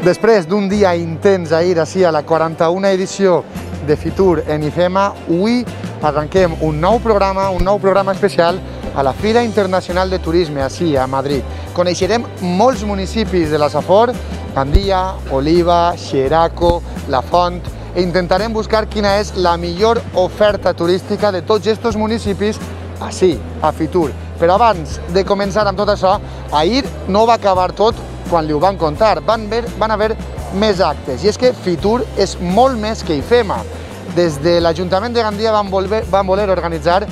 Després d'un dia intens ahir ací a la 41a edició de Fitur en IFEMA, avui arrenquem un nou programa especial a la Fira Internacional de Turisme, ací a Madrid. Coneixerem molts municipis de la Safor, Gandia, Oliva, Xeraco, La Font, e intentarem buscar quina és la millor oferta turística de tots aquests municipis ací, a Fitur. Però abans de començar amb tot això, ahir no va acabar tot quan li ho van contar, van haver més actes, i és que Fitur és molt més que IFEMA. Des de l'Ajuntament de Gandia van voler organitzar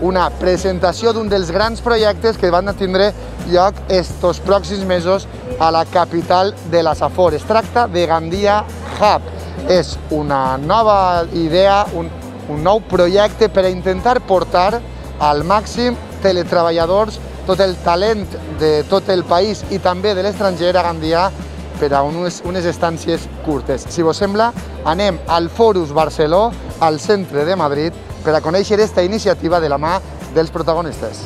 una presentació d'un dels grans projectes que van tindre lloc estos pròxims mesos a la capital de la Safor. Es tracta de Gandia Hub. És una nova idea, un nou projecte per a intentar portar al màxim teletreballadors, tot el talent de tot el país i també de l'estranger a Gandia per a unes estàncies curtes. Si vos sembla, anem al Fòrum Barceló, al centre de Madrid, per a conèixer aquesta iniciativa de la mà dels protagonistes.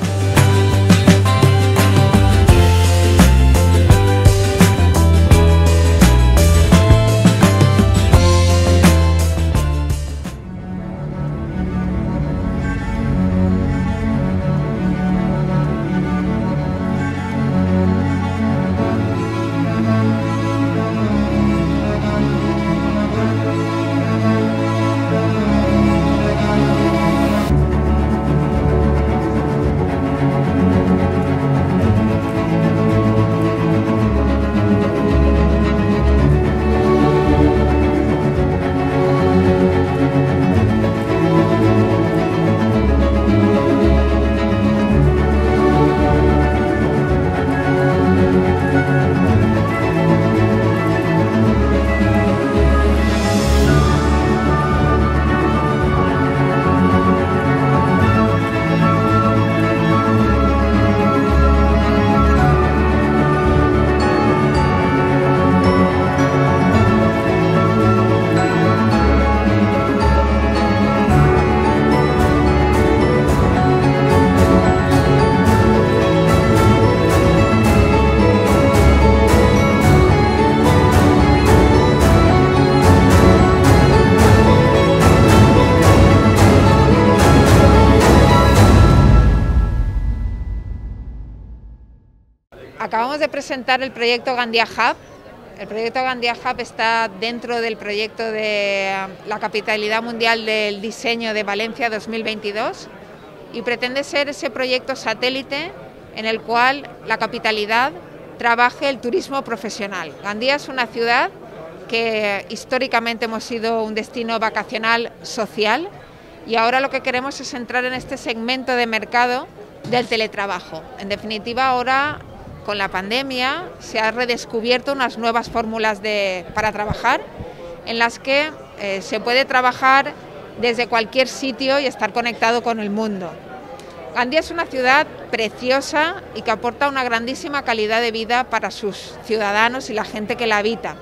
Acabamos de presentar el proyecto Gandia Hub. El proyecto Gandia Hub está dentro del proyecto de la Capitalidad Mundial del Diseño de Valencia 2022 y pretende ser ese proyecto satélite en el cual la capitalidad trabaje el turismo profesional. Gandia es una ciudad que históricamente hemos sido un destino vacacional social y ahora lo que queremos es entrar en este segmento de mercado del teletrabajo. En definitiva, ahora con la pandemia se han redescubierto unas nuevas fórmulas para trabajar en las que se puede trabajar desde cualquier sitio y estar conectado con el mundo. Gandia es una ciudad preciosa y que aporta una grandísima calidad de vida para sus ciudadanos y la gente que la habita.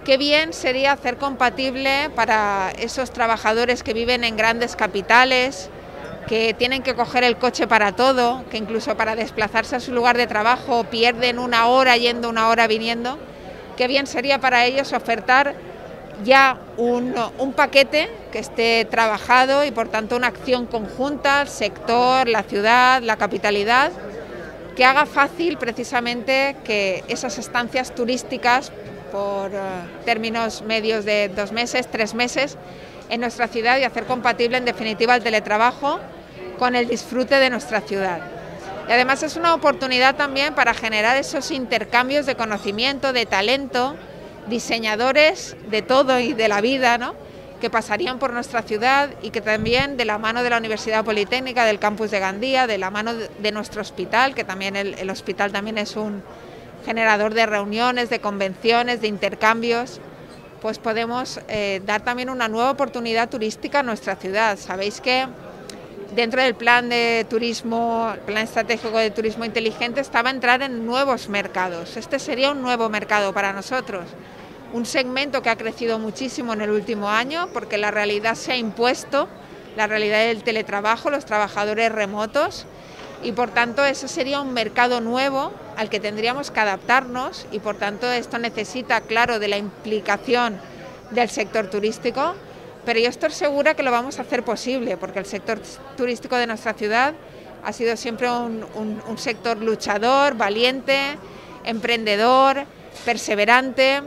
Qué bien sería hacer compatible para esos trabajadores que viven en grandes capitales, que tienen que coger el coche para todo, que incluso para desplazarse a su lugar de trabajo pierden una hora yendo, una hora viniendo. Qué bien sería para ellos ofertar ya un paquete que esté trabajado y por tanto una acción conjunta, el sector, la ciudad, la capitalidad, que haga fácil precisamente que esas estancias turísticas por términos medios de 2 meses, 3 meses en nuestra ciudad y hacer compatible en definitiva el teletrabajo con el disfrute de nuestra ciudad. Y además es una oportunidad también para generar esos intercambios de conocimiento, de talento, diseñadores de todo y de la vida, ¿no?, que pasarían por nuestra ciudad y que también de la mano de la Universidad Politécnica, del campus de Gandia, de la mano de nuestro hospital, que también el hospital también es un generador de reuniones, de convenciones, de intercambios, pues podemos dar también una nueva oportunidad turística a nuestra ciudad. Sabéis que dentro del plan de turismo, el plan estratégico de turismo inteligente, estaba entrar en nuevos mercados. Este sería un nuevo mercado para nosotros, un segmento que ha crecido muchísimo en el último año porque la realidad se ha impuesto, la realidad del teletrabajo, los trabajadores remotos, y por tanto ese sería un mercado nuevo al que tendríamos que adaptarnos y por tanto esto necesita, claro, de la implicación del sector turístico, pero yo estoy segura que lo vamos a hacer posible porque el sector turístico de nuestra ciudad ha sido siempre un sector luchador, valiente, emprendedor, perseverante,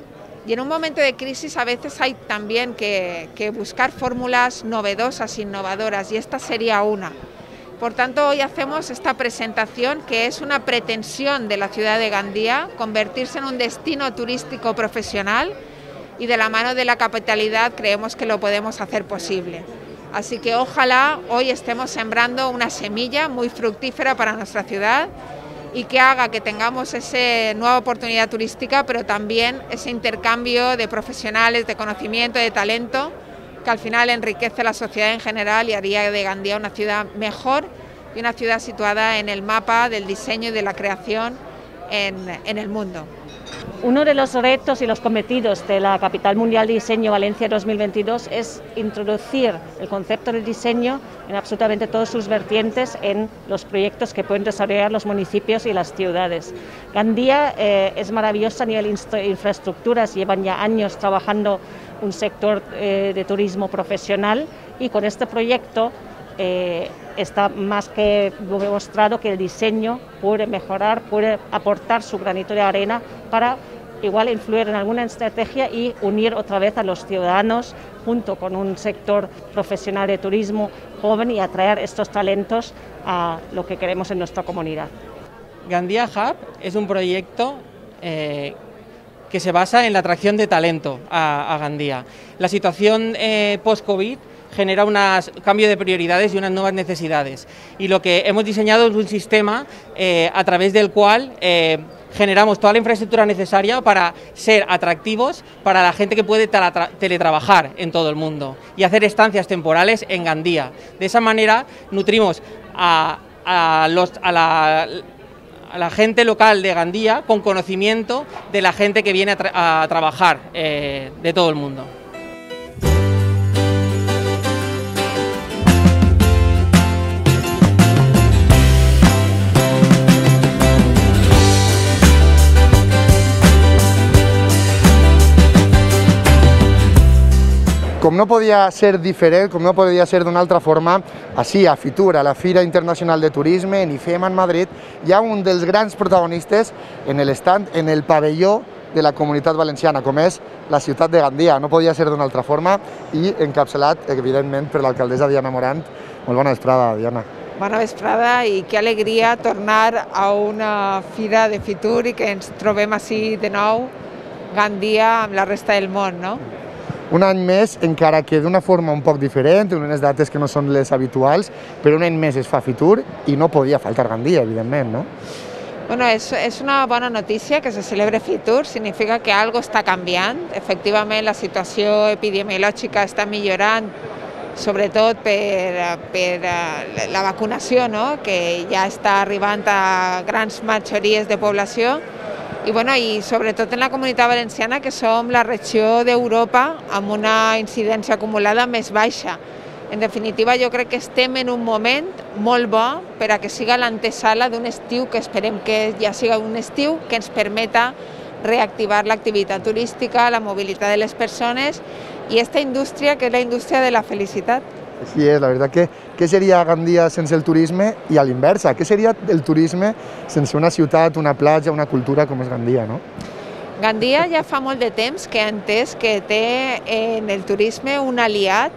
y en un momento de crisis a veces hay también que buscar fórmulas novedosas, innovadoras, y esta sería una. Por tanto, hoy hacemos esta presentación que es una pretensión de la ciudad de Gandía, convertirse en un destino turístico profesional, y de la mano de la capitalidad creemos que lo podemos hacer posible. Así que ojalá hoy estemos sembrando una semilla muy fructífera para nuestra ciudad y que haga que tengamos esa nueva oportunidad turística, pero también ese intercambio de profesionales, de conocimiento, de talento, que al final enriquece la sociedad en general y haría de Gandía una ciudad mejor y una ciudad situada en el mapa del diseño y de la creación en el mundo. Uno de los retos y los cometidos de la Capital Mundial de Diseño Valencia 2022 es introducir el concepto de diseño en absolutamente todas sus vertientes en los proyectos que pueden desarrollar los municipios y las ciudades. Gandía es maravillosa a nivel infraestructuras, llevan ya años trabajando un sector de turismo profesional y con este proyecto está más que demostrado que el diseño puede mejorar, puede aportar su granito de arena para igual influir en alguna estrategia y unir otra vez a los ciudadanos junto con un sector profesional de turismo joven y atraer estos talentos a lo que queremos en nuestra comunidad. Gandía Hub es un proyecto que se basa en la atracción de talento a Gandía. La situación post-COVID genera un cambio de prioridades y unas nuevas necesidades. Y lo que hemos diseñado es un sistema a través del cual generamos toda la infraestructura necesaria para ser atractivos para la gente que puede teletrabajar en todo el mundo y hacer estancias temporales en Gandía. De esa manera nutrimos a la gente local de Gandía con conocimiento de la gente que viene a trabajar de todo el mundo. Com no podia ser diferent, com no podia ser d'una altra forma, així a Fitur, a la Fira Internacional de Turisme, en IFEMA, en Madrid, hi ha un dels grans protagonistes en l'estand, en el pavelló de la Comunitat Valenciana, com és la ciutat de Gandía. No podia ser d'una altra forma i encapçalat, evidentment, per l'alcaldessa Diana Morant. Molt bona vesprada, Diana. Bona vesprada i que alegria tornar a una fira de Fitur i que ens trobem així de nou Gandía amb la resta del món, no? Un any més, encara que d'una forma un poc diferent, en unes dates que no són les habituals, però un any més es fa Fitur i no podia faltar Gandía, evidentment, no? Bueno, es una bona notícia que se celebre Fitur, significa que algo està canviant. Efectivament, la situació epidemiològica està millorant, sobretot per la vacunació, no? Que ja està arribant a grans majories de població. I, bueno, i sobretot en la Comunitat Valenciana, que som la regió d'Europa amb una incidència acumulada més baixa. En definitiva, jo crec que estem en un moment molt bo per a que siga l'antesala d'un estiu que esperem que ja siga un estiu que ens permeta reactivar l'activitat turística, la mobilitat de les persones i aquesta indústria que és la indústria de la felicitat. Així és, la veritat que què seria Gandía sense el turisme i a l'inversa? Què seria el turisme sense una ciutat, una platja, una cultura com és Gandía, no? Gandía ja fa molt de temps que ha entès que té en el turisme un aliat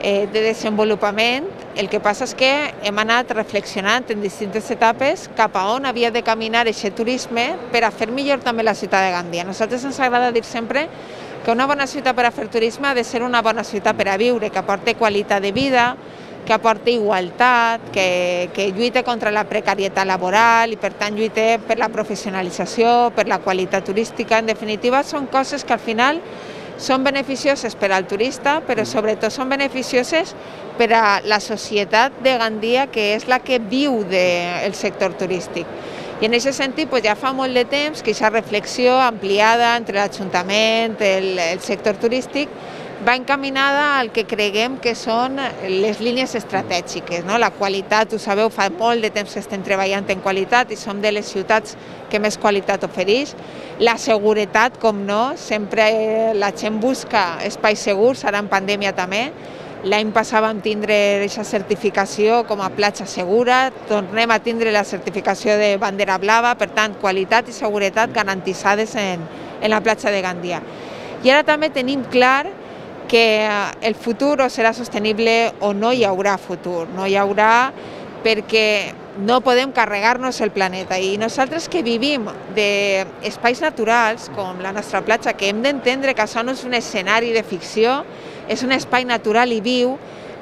de desenvolupament. El que passa és que hem anat reflexionant en distintes etapes cap a on havia de caminar aquest turisme per a fer millor també la ciutat de Gandía. A nosaltres ens agrada dir sempre que una bona ciutat per a fer turisme ha de ser una bona ciutat per a viure, que aporti qualitat de vida, que aporti igualtat, que lluite contra la precarietat laboral i per tant lluite per la professionalització, per la qualitat turística. En definitiva, són coses que al final són beneficioses per al turista, però sobretot són beneficioses per a la societat de Gandía, que és la que viu del sector turístic. I en aquest sentit ja fa molt de temps que aquesta reflexió ampliada entre l'Ajuntament, el sector turístic, va encaminada al que creguem que són les línies estratègiques, no? La qualitat, ho sabeu, fa molt de temps que estem treballant en qualitat i som de les ciutats que més qualitat ofereix. La seguretat, com no, sempre la gent busca espais segurs, ara en pandèmia també. L'any passat vam tindre aquesta certificació com a platja segura, tornem a tindre la certificació de bandera blava, per tant, qualitat i seguretat garantitzades en la platja de Gandia. I ara també tenim clar que el futur o serà sostenible o no hi haurà futur, no hi haurà perquè no podem carregar-nos el planeta i nosaltres que vivim d'espais naturals com la nostra platja, que hem d'entendre que això no és un escenari de ficció, és un espai natural i viu,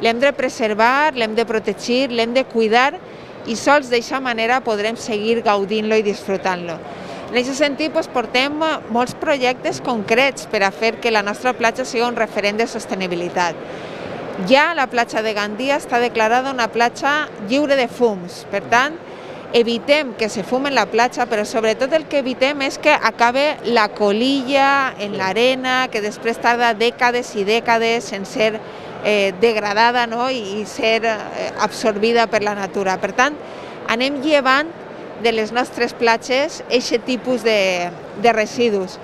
l'hem de preservar, l'hem de protegir, l'hem de cuidar i sols d'aquesta manera podrem seguir gaudint-lo i disfrutant-lo. En aquest sentit, portem molts projectes concrets per a fer que la nostra platja sigui un referent de sostenibilitat. Ja la platja de Gandia està declarada una platja lliure de fums, per tant, evitem que se fumi en la platja, però sobretot el que evitem és que acabe la colilla en l'arena, que després tarda dècades i dècades en ser degradada i ser absorbida per la natura. Per tant, anem llevant de les nostres platges aquest tipus de residus.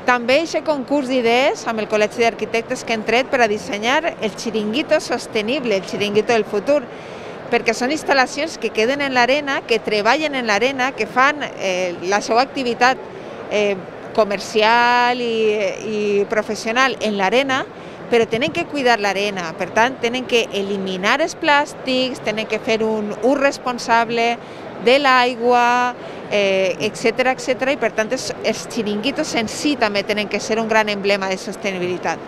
També aquest concurs d'idees amb el Col·legi d'Arquitectes que hem tret per a dissenyar el xiringuito sostenible, el xiringuito del futur, perquè són instal·lacions que queden en l'arena, que treballen en l'arena, que fan la seva activitat comercial i professional en l'arena, però tenen que cuidar l'arena, per tant, tenen que eliminar els plàstics, tenen que fer un ús responsable de l'aigua, etcètera, i per tant els xiringuitos en si també tenen que ser un gran emblema de sostenibilitat.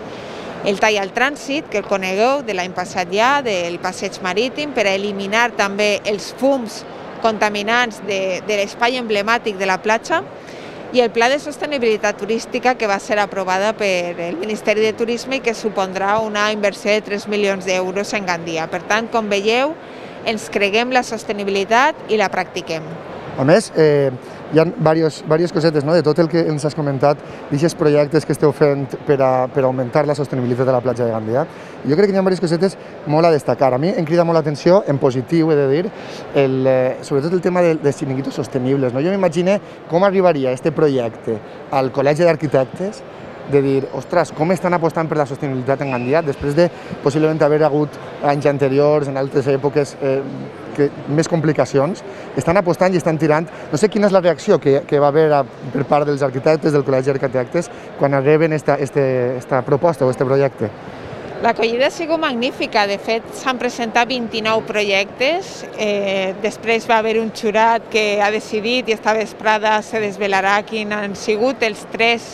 El tall al trànsit, que el conegueu de l'any passat ja, del passeig marítim, per a eliminar també els fums contaminants de l'espai emblemàtic de la platja, i el Pla de Sostenibilitat Turística que va ser aprovada per el Ministeri de Turisme i que supondrà una inversió de 3 milions d'euros en Gandia. Per tant, com veieu, ens creguem la sostenibilitat i la practiquem. A més, hi ha diverses cosetes de tot el que ens has comentat, d'aquests projectes que esteu fent per augmentar la sostenibilitat de la platja de Gandia. Jo crec que hi ha diverses cosetes molt a destacar. A mi em crida molt l'atenció, en positiu, he de dir, sobretot el tema dels xiringuitos sostenibles. Jo m'imagino com arribaria aquest projecte al Col·legi d'Arquitectes, de dir, ostres, com estan apostant per la sostenibilitat en Gandia, després de possiblement haver hagut anys anteriors, en altres èpoques, més complicacions, estan apostant i estan tirant. No sé quina és la reacció que va haver per part dels arquitectes, del Col·legi d'Arquitectes, quan reben aquesta proposta o aquest projecte. L'acollida ha sigut magnífica, de fet s'han presentat 29 projectes, després va haver un jurat que ha decidit i esta vesprada se desvelarà quins han sigut els 3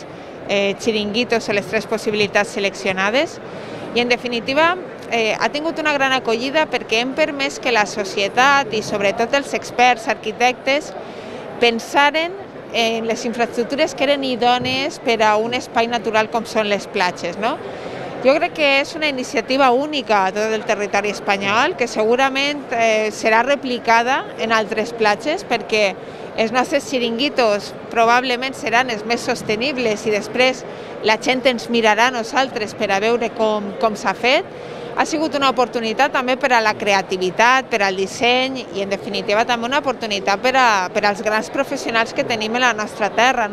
xiringuitos o les 3 possibilitats seleccionades i en definitiva ha tingut una gran acollida perquè hem permès que la societat i sobretot els experts arquitectes pensaren en les infraestructures que eren idònies per a un espai natural com són les platges. Jo crec que és una iniciativa única a tot el territori espanyol que segurament serà replicada en altres platges perquè els nostres xiringuitos probablement seran els més sostenibles i després la gent ens mirarà a nosaltres per a veure com s'ha fet. Ha sigut una oportunitat també per a la creativitat, per al disseny i en definitiva també una oportunitat per als grans professionals que tenim en la nostra terra.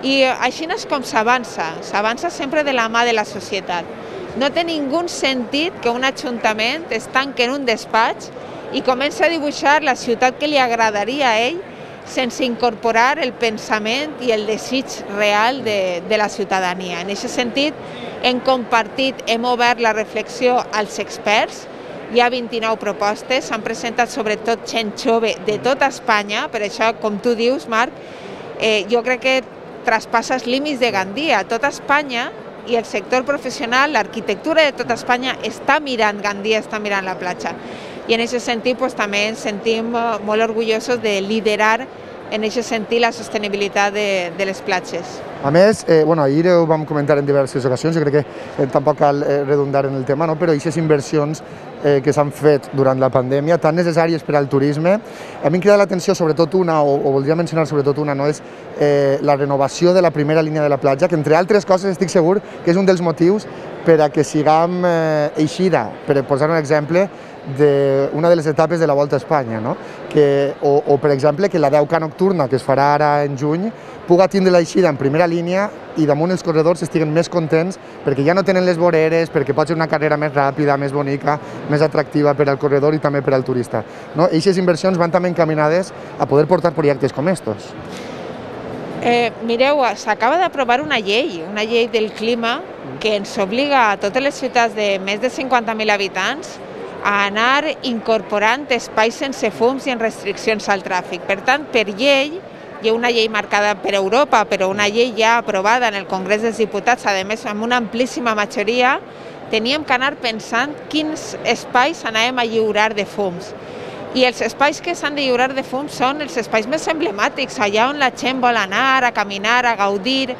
I així és com s'avança sempre de la mà de la societat. No té ningú sentit que un ajuntament es tanqui en un despatx i comença a dibuixar la ciutat que li agradaria a ell sense incorporar el pensament i el desig real de la ciutadania. En aquest sentit, hem compartit, hem obert la reflexió als experts, hi ha 29 propostes, s'han presentat sobretot gent jove de tota Espanya, per això, com tu dius, Marc, jo crec que traspassa els límits de Gandia. Tota Espanya i el sector professional, l'arquitectura de tota Espanya està mirant Gandia, està mirant la platja. I en aquest sentit també ens sentim molt orgullosos de liderar en aquest sentit la sostenibilitat de les platges. A més, ahir ho vam comentar en diverses ocasions, jo crec que tampoc cal redundar en el tema, però aquestes inversions que s'han fet durant la pandèmia, tan necessàries per al turisme. A mi em crida l'atenció sobretot una, o voldria mencionar sobretot una, no? És la renovació de la primera línia de la platja, que entre altres coses estic segur que és un dels motius per a que siguem eixida, per posar un exemple, d'una de les etapes de la Volta a Espanya, no? O per exemple, que la 10K nocturna, que es farà ara en juny, puga tindre l'eixida en primera línia i damunt els corredors estiguen més contents perquè ja no tenen les voreres, perquè pot ser una carrera més ràpida, més bonica, més atractiva per al corredor i també per al turista. Aquestes inversions van també encaminades a poder portar projectes com estos. Mireu, s'acaba d'aprovar una llei del clima que ens obliga a totes les ciutats de més de 50.000 habitants a anar incorporant espais sense fums i en restriccions al tràfic. Per tant, per llei, hi ha una llei marcada per Europa, però una llei ja aprovada en el Congrés dels Diputats, a més amb una amplíssima majoria, teníem que anar pensant quins espais anàvem a lliurar de fums. I els espais que s'han de lliurar de fums són els espais més emblemàtics, allà on la gent vol anar, a caminar, a gaudir.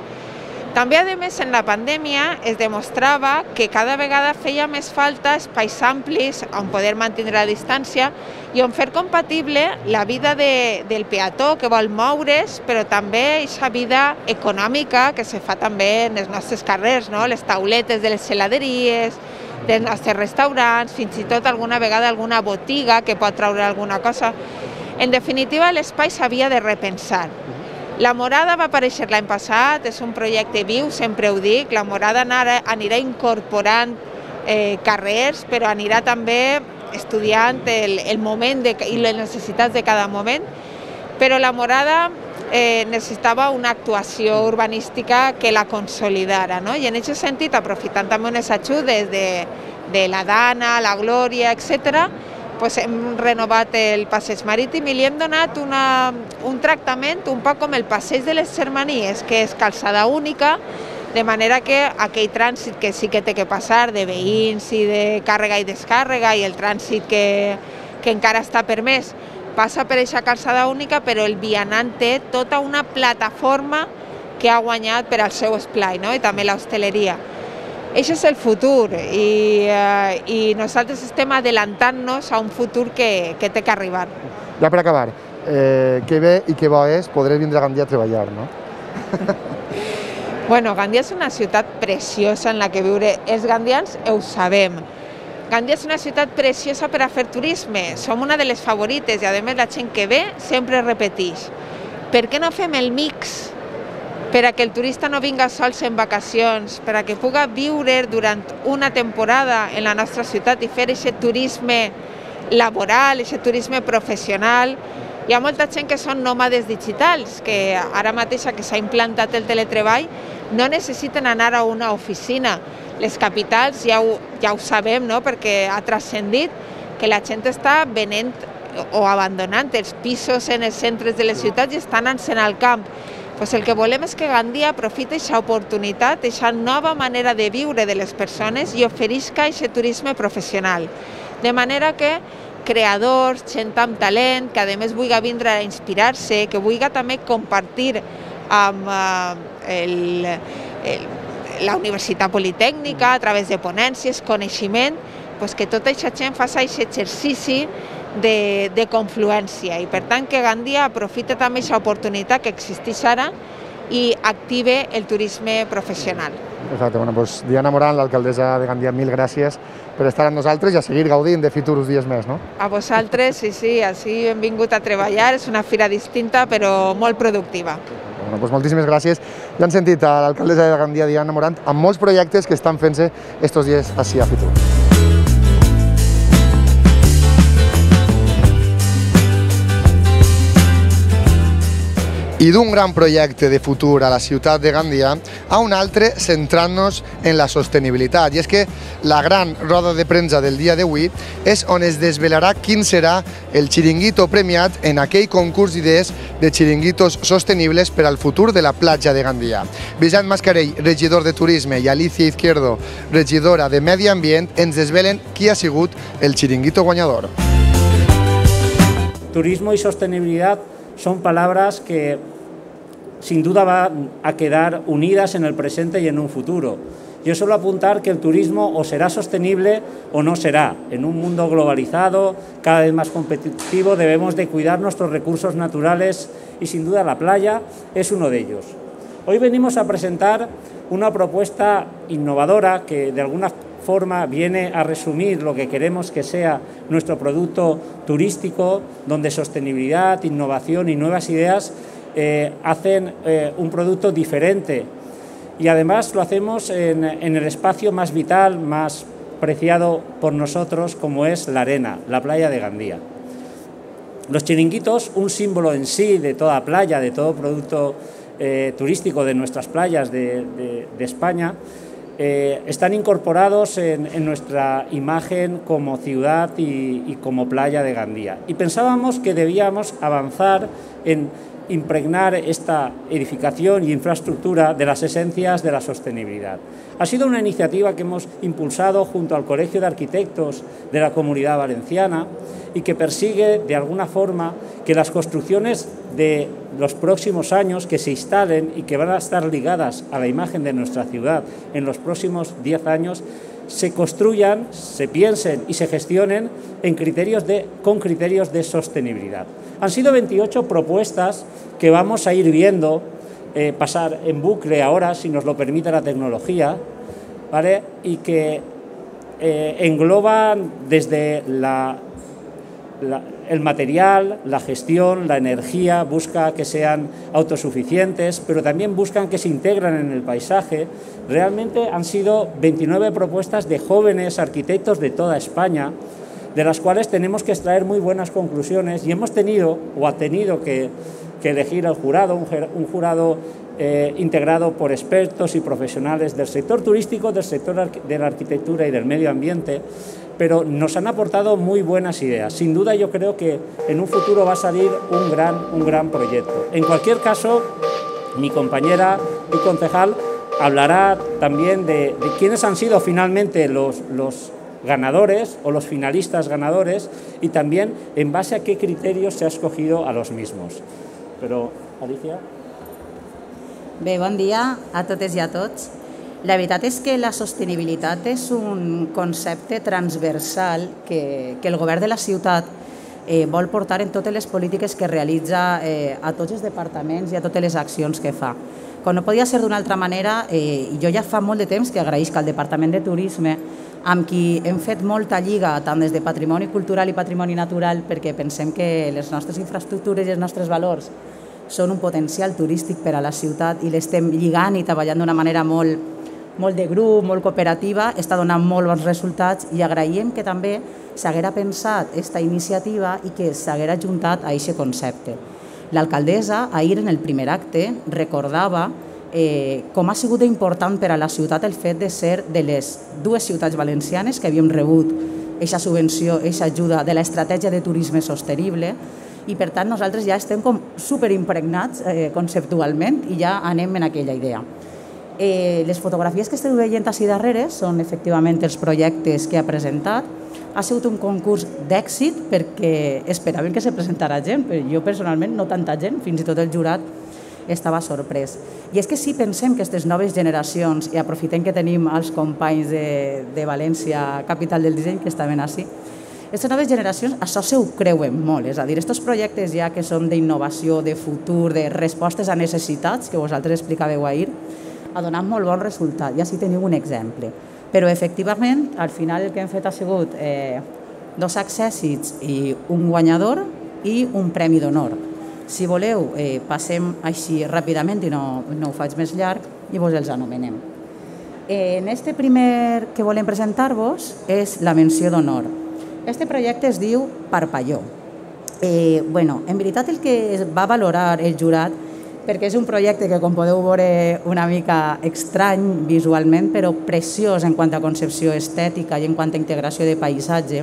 També, a més, en la pandèmia es demostrava que cada vegada feia més falta espais amplis on poder mantenir la distància i on fer compatible la vida del peató que vol moure's, però també aquesta vida econòmica que se fa també en els nostres carrers, les tauletes de les heladeries, dels nostres restaurants, fins i tot alguna vegada alguna botiga que pot treure alguna cosa. En definitiva, l'espai s'havia de repensar. La Morada va aparèixer l'any passat, és un projecte viu, sempre ho dic, la Morada anirà incorporant carrers, però anirà també estudiant el moment i les necessitats de cada moment, però la Morada necessitava una actuació urbanística que la consolidara, i en aquest sentit, aprofitant també unes ajudes de la Dana, la Glòria, etc., hem renovat el passeig marítim i li hem donat un tractament un poc com el passeig de les Germanies, que és calçada única, de manera que aquell trànsit que sí que té que passar de veïns i de càrrega i descàrrega i el trànsit que encara està permès passa per aquesta calçada única, però el vianant té tota una plataforma que ha guanyat per al seu esplai, i també l'hostaleria. Això és el futur i nosaltres estem adelantant-nos a un futur que té que arribar. Ja per acabar, que bé i que bo és poder vindre a Gandia a treballar, no? Bueno, Gandia és una ciutat preciosa en la que viure. Els gandians ho sabem. Gandia és una ciutat preciosa per a fer turisme. Som una de les favorites i, a més, la gent que ve sempre repeteix. Per què no fem el mix? Per a que el turista no vinga sols en vacacions, per a que puga viure durant una temporada en la nostra ciutat i fer aquest turisme laboral, aquest turisme professional. Hi ha molta gent que són nòmades digitals, que ara mateix que s'ha implantat el teletreball no necessiten anar a una oficina. Les capitals ja ho sabem, perquè ha transcendit que la gent està venent o abandonant els pisos en els centres de les ciutats i estan anant al camp. El que volem és que Gandia aprofiti aquesta oportunitat, aquesta nova manera de viure de les persones i oferisca aquest turisme professional. De manera que creadors, gent amb talent, que a més vulgui vindre a inspirar-se, que vulgui també compartir amb la Universitat Politècnica a través de ponències, coneixement, que tota aquesta gent faci aquest exercici de confluència i per tant que Gandia aprofita també aquesta oportunitat que existeix ara i active el turisme professional. Exacte, doncs Diana Morant, l'alcaldessa de Gandia, mil gràcies per estar amb nosaltres i a seguir gaudint de Fitur uns dies més, no? A vosaltres, sí, així hem vingut a treballar, és una fira distinta però molt productiva. Doncs moltíssimes gràcies. Ja han sentit a l'alcaldessa de Gandia, Diana Morant, amb molts projectes que estan fent-se estos dies així a Fitur. I d'un gran projecte de futur a la ciutat de Gandia a un altre centrant-nos en la sostenibilitat. I és que la gran roda de premsa del dia d'avui és on es desvelarà quin serà el xiringuito premiat en aquell concurs d'idees de xiringuitos sostenibles per al futur de la platja de Gandia. Vicent Mascarell, regidor de Turisme, i Alicia Izquierdo, regidora de Medi Ambient, ens desvelen qui ha sigut el xiringuito guanyador. Turismo y sostenibilidad son palabras que sin duda van a quedar unidas en el presente y en un futuro. yo suelo apuntar que el turismo o será sostenible o no será. En un mundo globalizado, cada vez más competitivo, debemos de cuidar nuestros recursos naturales y sin duda la playa es uno de ellos. Hoy venimos a presentar una propuesta innovadora que de alguna forma viene a resumir lo que queremos que sea nuestro producto turístico, donde sostenibilidad, innovación y nuevas ideas hacen un producto diferente. Y además lo hacemos en el espacio más vital, más preciado por nosotros, como es la arena, la playa de Gandía. Los chiringuitos, un símbolo en sí de toda playa, de todo producto turístico de nuestras playas de España, están incorporados en nuestra imagen como ciudad y como playa de Gandía. Y pensábamos que debíamos avanzar en impregnar esta edificación y infraestructura de las esencias de la sostenibilidad. Ha sido una iniciativa que hemos impulsado junto al Colegio de Arquitectos de la Comunidad Valenciana y que persigue de alguna forma que las construcciones de los próximos años que se instalen y que van a estar ligadas a la imagen de nuestra ciudad en los próximos 10 años se construyan, se piensen y se gestionen con criterios de sostenibilidad. Han sido 28 propuestas que vamos a ir viendo pasar en bucle ahora, si nos lo permite la tecnología, ¿vale? Y que engloban desde el material, la gestión, la energía, busca que sean autosuficientes, pero también buscan que se integren en el paisaje. Realmente han sido 29 propuestas de jóvenes arquitectos de toda España, de las cuales tenemos que extraer muy buenas conclusiones y hemos tenido o ha tenido que elegir al jurado, un jurado integrado por expertos y profesionales del sector turístico, del sector de la arquitectura y del medio ambiente, pero nos han aportado muy buenas ideas. Sin duda yo creo que en un futuro va a salir un gran proyecto. En cualquier caso, mi compañera y concejal hablará también de quiénes han sido finalmente los ganadores o los finalistas ganadores y también en base a qué criterios se ha escogido a los mismos. Però, Alicia? Bé, bon dia a totes i a tots. La veritat és que la sostenibilitat és un concepte transversal que el govern de la ciutat vol portar en totes les polítiques que realitza a tots els departaments i a totes les accions que fa. Com no podia ser d'una altra manera, jo ja fa molt de temps que agraïsc al Departament de Turisme, amb qui hem fet molta lliga tant des de patrimoni cultural i patrimoni natural, perquè pensem que les nostres infraestructures i els nostres valors són un potencial turístic per a la ciutat i l'estem lligant i treballant d'una manera molt de grup, molt cooperativa, està donant molt bons resultats i agraïm que també s'haguera pensat aquesta iniciativa i que s'haguera ajuntat a aquest concepte. L'alcaldessa, ahir en el primer acte, recordava com ha sigut important per a la ciutat el fet de ser de les dues ciutats valencianes que havíem rebut aquesta subvenció, aquesta ajuda de l'estratègia de turisme sostenible i per tant nosaltres ja estem com superimpregnats conceptualment i ja anem en aquella idea. Les fotografies que esteu veient així darrere són efectivament els projectes que ha presentat. Ha sigut un concurs d'èxit perquè esperaven que se presentara gent, però jo personalment no tanta gent, fins i tot el jurat estava sorprès. I és que si pensem que aquestes noves generacions, i aprofitem que tenim els companys de València, capital del disseny, que estaven així, aquestes noves generacions això se ho creuen molt, és a dir, aquests projectes ja que són d'innovació, de futur, de respostes a necessitats, que vosaltres explicàveu ahir, ha donat molt bon resultat, i així teniu un exemple. Però efectivament, al final el que hem fet ha sigut 2 accèssits i un guanyador i un premi d'honor. Si voleu, passem així ràpidament i no ho faig més llarg i vos els anomenem. En este primer que volem presentar-vos és la menció d'honor. Este projecte es diu Parpalló. En veritat el que es va valorar el jurat, perquè és un projecte que com podeu veure una mica estrany visualment, però preciós en quant a concepció estètica i en quant a integració de paisatge,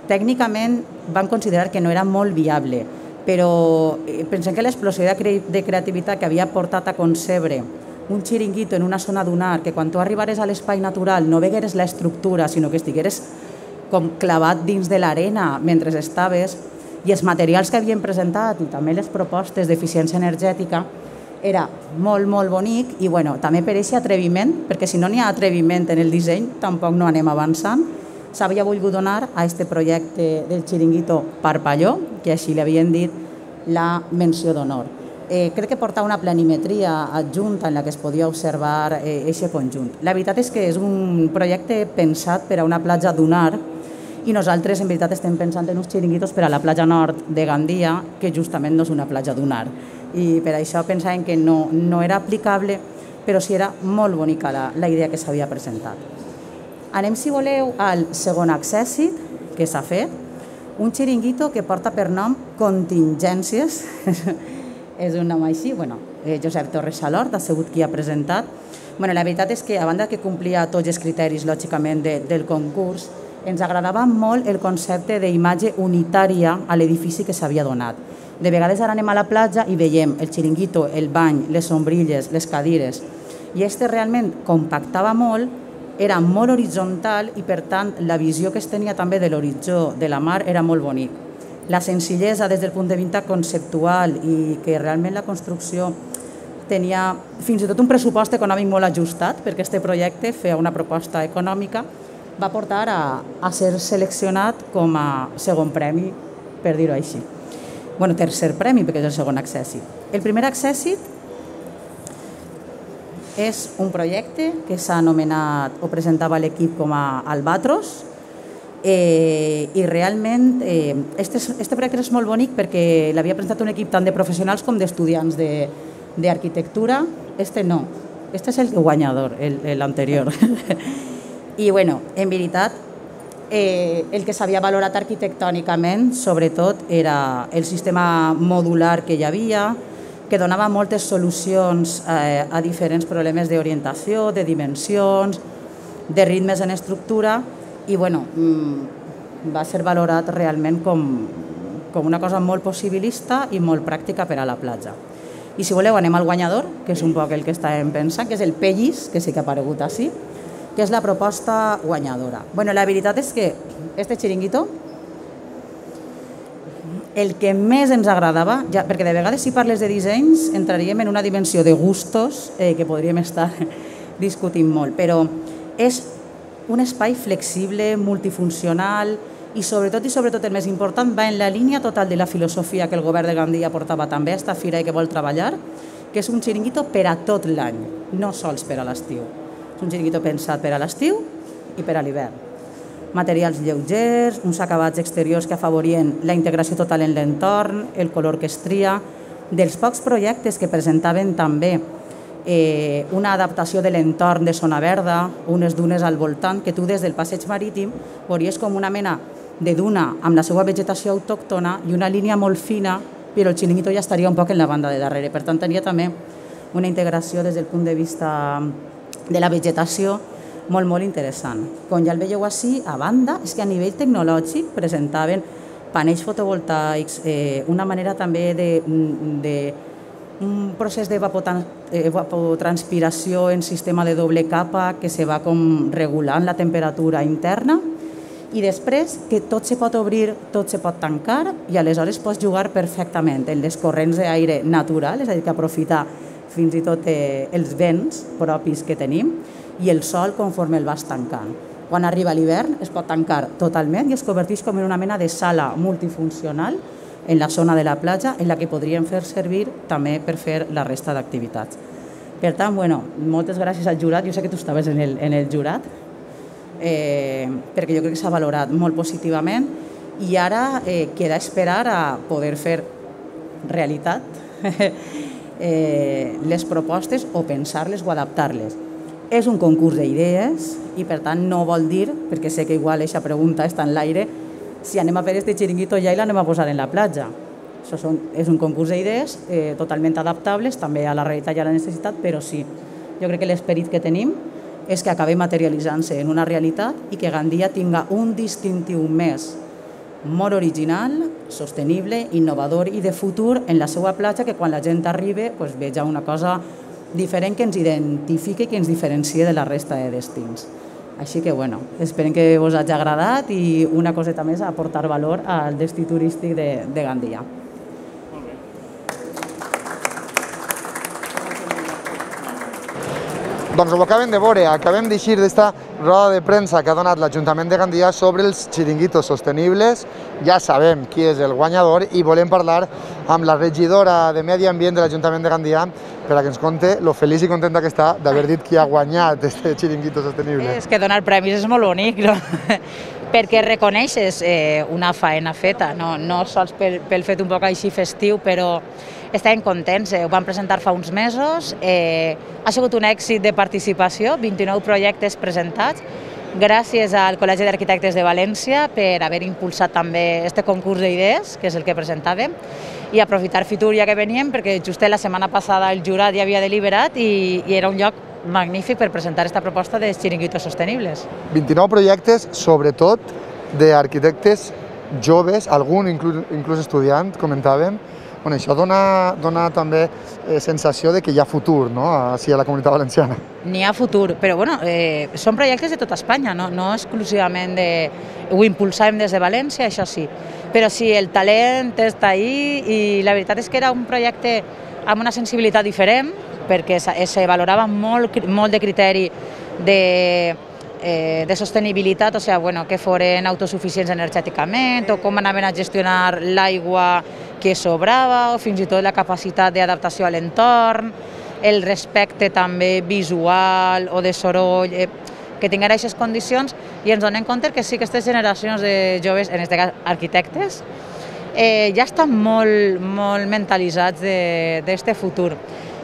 tècnicament van considerar que no era molt viable, però pensem que l'explosió de creativitat que havia portat a concebre un xiringuito en una zona dunar, que quan tu arribares a l'espai natural no vegueres l'estructura, sinó que estigueres com clavat dins de l'arena mentre estaves, i els materials que havien presentat i també les propostes d'eficiència energètica Era molt, molt bonic i bueno, també per aquest atreviment, perquè si no n'hi ha atreviment en el disseny, tampoc no anem avançant, s'havia volgut donar a aquest projecte del xiringuito Parpalló, que així li havien dit la menció d'honor. Crec que porta una planimetria adjunta en la que es podia observar aquest conjunt. La veritat és que és un projecte pensat per a una platja dunar i nosaltres en veritat estem pensant en uns xiringuitos per a la platja nord de Gandia, que justament no és una platja dunar. I per això pensàvem que no era aplicable, però sí era molt bonica la idea que s'havia presentat. Anem, si voleu, al segon accèssit que s'ha fet, un xiringuito que porta per nom Contingències, és un nom així, Josep Torres Salort ha sigut qui ha presentat. La veritat és que, a banda que complia tots els criteris, lògicament, del concurs, ens agradava molt el concepte d'imatge unitària a l'edifici que s'havia donat. De vegades ara anem a la platja i veiem el xiringuito, el bany, les sombrilles, les cadires, i este realment compactava molt, era molt horitzontal i, per tant, la visió que es tenia també de l'horitzó de la mar era molt bonic. La senzillesa des del punt de vista conceptual i que realment la construcció tenia fins i tot un pressupost econòmic molt ajustat, perquè aquest projecte feia una proposta econòmica, va portar a ser seleccionat com a segon premi, per dir-ho així. Tercer premi, perquè és el segon accèssit. El primer accèssit és un projecte que s'ha anomenat o presentava l'equip com a Albatros i realment este projecte és molt bonic perquè l'havia presentat un equip tant de professionals com d'estudiants d'arquitectura. Este no, este és el guanyador, l'anterior. I, en veritat, el que s'havia valorat arquitectònicament, sobretot, era el sistema modular que hi havia, que donava moltes solucions a diferents problemes d'orientació, de dimensions, de ritmes en estructura, i, va ser valorat realment com una cosa molt possibilista i molt pràctica per a la platja. I, si voleu, anem al guanyador, que és un poc el que estàvem pensant, que és el Pellis, que sí que ha aparegut així, que és la proposta guanyadora. La veritat és que este xiringuito, el que més ens agradava, perquè de vegades si parles de dissenys entraríem en una dimensió de gustos que podríem estar discutint molt, però és un espai flexible, multifuncional i sobretot el més important va en la línia total de la filosofia que el govern de Gandia portava també a esta fira i que vol treballar, que és un xiringuito per a tot l'any, no sols per a l'estiu. Un xiringuito pensat per a l'estiu i per a l'hivern. Materials lleugers, uns acabats exteriors que afavorien la integració total en l'entorn, el color que es tria, dels pocs projectes que presentaven també una adaptació de l'entorn de zona verda, unes dunes al voltant, que tu des del passeig marítim veuries com una mena de duna amb la seva vegetació autòctona i una línia molt fina, però el xiringuito ja estaria un poc en la banda de darrere. Per tant, tenia també una integració des del punt de vista de la vegetació molt, molt interessant. Com ja el veieu així, a banda, és que a nivell tecnològic presentaven panells fotovoltaics, una manera també un procés d'evapotranspiració en sistema de doble capa que se va com regulant la temperatura interna i després que tot se pot obrir, tot se pot tancar i aleshores pots jugar perfectament en les corrents d'aire natural, és a dir, que aprofita fins i tot els vents propis que tenim i el sol conforme el vas tancant. Quan arriba l'hivern es pot tancar totalment i es converteix com en una mena de sala multifuncional en la zona de la platja en la que podríem fer servir també per fer la resta d'activitats. Per tant, moltes gràcies al jurat. Jo sé que tu estaves en el jurat perquè jo crec que s'ha valorat molt positivament i ara queda esperar a poder fer realitat les propostes o pensar-les o adaptar-les. És un concurs d'idees i per tant no vol dir, perquè sé que igual aquesta pregunta està en l'aire, si anem a fer este xiringuito ja i l'anem a posar en la platja. És un concurs d'idees totalment adaptables també a la realitat i a la necessitat, però sí, jo crec que l'esperit que tenim és que acabi materialitzant-se en una realitat i que Gandia tinga un distintiu més molt original, sostenible, innovador i de futur en la seva platja, que quan la gent arribi veja una cosa diferent que ens identifiqui i que ens diferencie de la resta de destins. Així que, esperem que us hagi agradat i una coseta més a aportar valor al destí turístic de Gandia. Doncs ho acabem de veure, acabem d'eixir d'esta roda de premsa que ha donat l'Ajuntament de Gandia sobre els xiringuitos sostenibles. Ja sabem qui és el guanyador i volem parlar amb la regidora de Medi Ambient de l'Ajuntament de Gandia per a que ens conte lo feliç i contenta que està d'haver dit qui ha guanyat este xiringuito sostenible. És que donar premis és molt bonic, no? Perquè reconeixes una faena feta, no sols pel fet un poc així festiu, però estàvem contents, ho vam presentar fa uns mesos, ha sigut un èxit de participació, 29 projectes presentats, gràcies al Col·legi d'Arquitectes de València per haver impulsat també este concurs d'idees, que és el que presentàvem, i aprofitar Fitur ja que veníem, perquè just la setmana passada el jurat ja havia deliberat i era un lloc magnífic per presentar aquesta proposta de xiringuitos sostenibles. 29 projectes, sobretot d'arquitectes joves, algun inclús estudiant, comentàvem. Bueno, això dona també sensació de que hi ha futur, no?, així a la Comunitat Valenciana. N'hi ha futur, però bueno, són projectes de tota Espanya, no exclusivament de... Ho impulsàvem des de València, això sí, però sí, el talent està ahí i la veritat és que era un projecte amb una sensibilitat diferent, perquè se valorava molt de criteri de sostenibilitat, o sigui, que foren autosuficients energèticament, o com anaven a gestionar l'aigua que sobrava, o fins i tot la capacitat d'adaptació a l'entorn, el respecte també visual o de soroll, que tinguin aquestes condicions, i ens donem compte que sí que aquestes generacions de joves, en aquest cas arquitectes, ja estan molt mentalitzats d'aquest futur,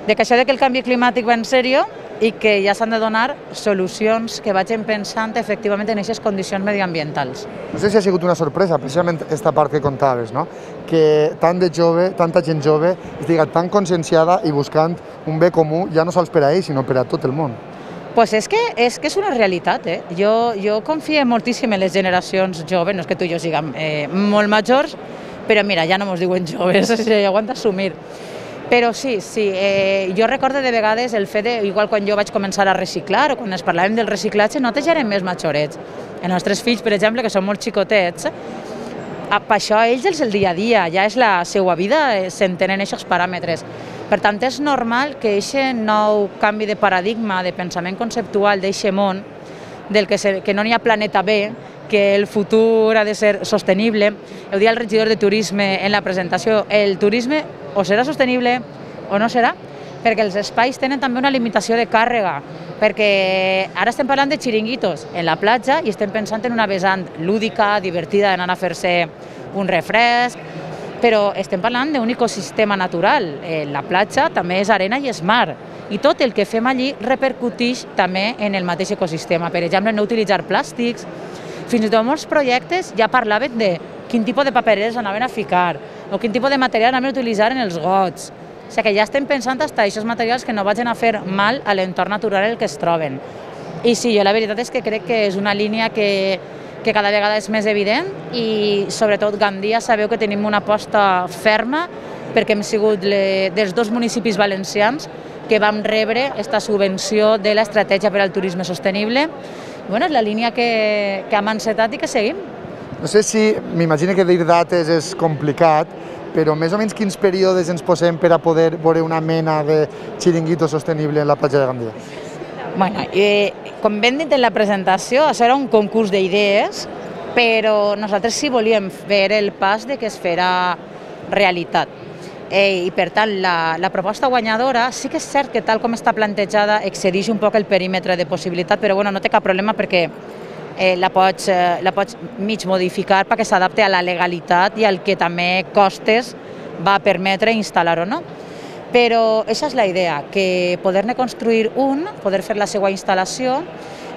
de que això que el canvi climàtic va en sèrio i que ja s'han de donar solucions que vagin pensant efectivament en aquestes condicions mediambientals. No sé si ha sigut una sorpresa, precisament aquesta part que contaves, no?, que tanta gent jove estigui tan conscienciada i buscant un bé comú ja no sols per a ells, sinó per a tot el món. Pues és que és una realitat. Jo confio moltíssim en les generacions joves, no és que tu i jo siguem molt majors, però mira, ja no mos diuen joves, ja ho han d'assumir. Però sí, jo recordo de vegades el fet de, igual quan jo vaig començar a reciclar o quan ens parlàvem del reciclatge, nosaltres ja érem més majorets. Els nostres fills, per exemple, que són molt xicotets, per això a ells és el dia a dia, ja és la seva vida, s'entenen aquests paràmetres. Per tant, és normal que aquest nou canvi de paradigma, de pensament conceptual d'aquest món, del que no n'hi ha planeta B, que el futur ha de ser sostenible. Ho deia el regidor de Turisme en la presentació, el turisme o serà sostenible o no serà, perquè els espais tenen també una limitació de càrrega, perquè ara estem parlant de xiringuitos en la platja i estem pensant en una vessant lúdica, divertida, d'anar a fer-se un refresc, però estem parlant d'un ecosistema natural. La platja també és arena i és mar, i tot el que fem allí repercuteix també en el mateix ecosistema. Per exemple, no utilitzar plàstics. Fins i tot molts projectes ja parlaven de quin tipus de papereres anaven a ficar o quin tipus de material anaven a utilitzar en els gots. O sigui que ja estem pensant fins a aquests materials que no vagin a fer mal a l'entorn natural en el que es troben. I sí, jo la veritat és que crec que és una línia que cada vegada és més evident i sobretot Gandia sabeu que tenim una aposta ferma perquè hem sigut dels dos municipis valencians que vam rebre aquesta subvenció de l'estratègia per al turisme sostenible. És la línia que hem encetat i que seguim. No sé si, m'imagino que dir dates és complicat, però més o menys quins períodes ens posem per a poder veure una mena de xiringuito sostenible en la platja de Gandia? Com ben dit en la presentació, això era un concurs d'idees, però nosaltres sí volíem fer el pas de que es farà realitat. I per tant, la proposta guanyadora sí que és cert que tal com està plantejada excedeix un poc el perímetre de possibilitat, però no té cap problema perquè la pots mig modificar perquè s'adapti a la legalitat i al que també costes va permetre instal·lar o no. Però aquesta és la idea, que poder-ne construir poder fer la seva instal·lació,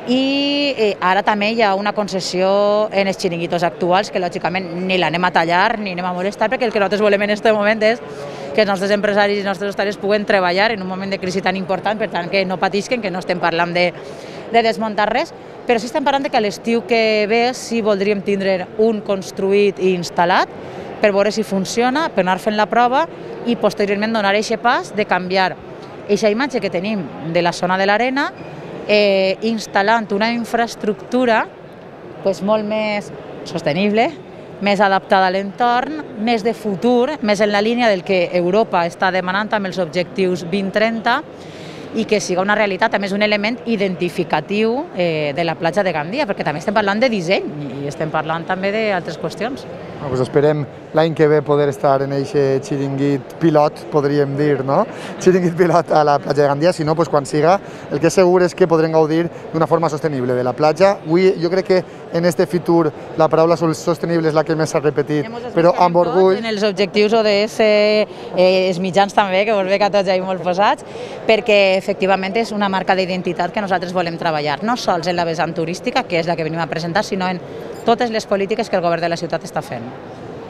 i ara també hi ha una concessió en els xiringuitos actuals que lògicament ni l'anem a tallar ni anem a molestar, perquè el que nosaltres volem en aquest moment és que els nostres empresaris i els nostres hostaleros puguen treballar en un moment de crisi tan important, per tant que no patisquen, que no estem parlant de desmuntar res, però sí estem parlant que a l'estiu que ve sí voldríem tindre un construït i instal·lat per veure si funciona, per anar fent la prova i posteriorment donar aquest pas de canviar aquesta imatge que tenim de la zona de l'arena instal·lant una infraestructura molt més sostenible, més adaptada a l'entorn, més de futur, més en la línia del que Europa està demanant amb els objectius 2030 i que siga una realitat, a més un element identificatiu de la platja de Gandia, perquè també estem parlant de disseny i estem parlant també d'altres qüestions. Pues esperem l'any que ve poder estar en aquest xiringuit pilot, podríem dir, no? Xiringuit pilot a la platja de Gandia, si no, pues quan siga, el que és segur és que podrem gaudir d'una forma sostenible de la platja. Avui jo crec que en este Fitur la paraula sostenible és la que més s'ha repetit, però amb orgull. En els objectius ODS, els mitjans també, que vos veig a tots ahí molt posats, perquè efectivament és una marca d'identitat que nosaltres volem treballar, no sols en la vessant turística, que és la que venim a presentar, sinó en totes les polítiques que el govern de la ciutat està fent.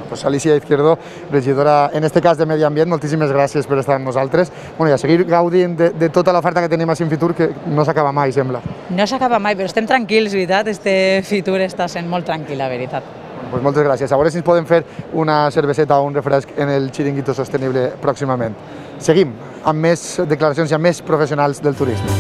Pues Alicia Izquierdo, regidora, en este cas de Medi Ambient, moltíssimes gràcies per estar amb nosaltres. Bueno, i a seguir gaudint de tota l'oferta que tenim a Fitur, que no s'acaba mai, sembla. No s'acaba mai, però estem tranquils, veritat? Este Fitur està sent molt tranquil, la veritat. Pues moltes gràcies. A veure si ens podem fer una cerveseta o un refresc en el Xiringuito Sostenible pròximament. Seguim amb més declaracions i amb més professionals del turisme.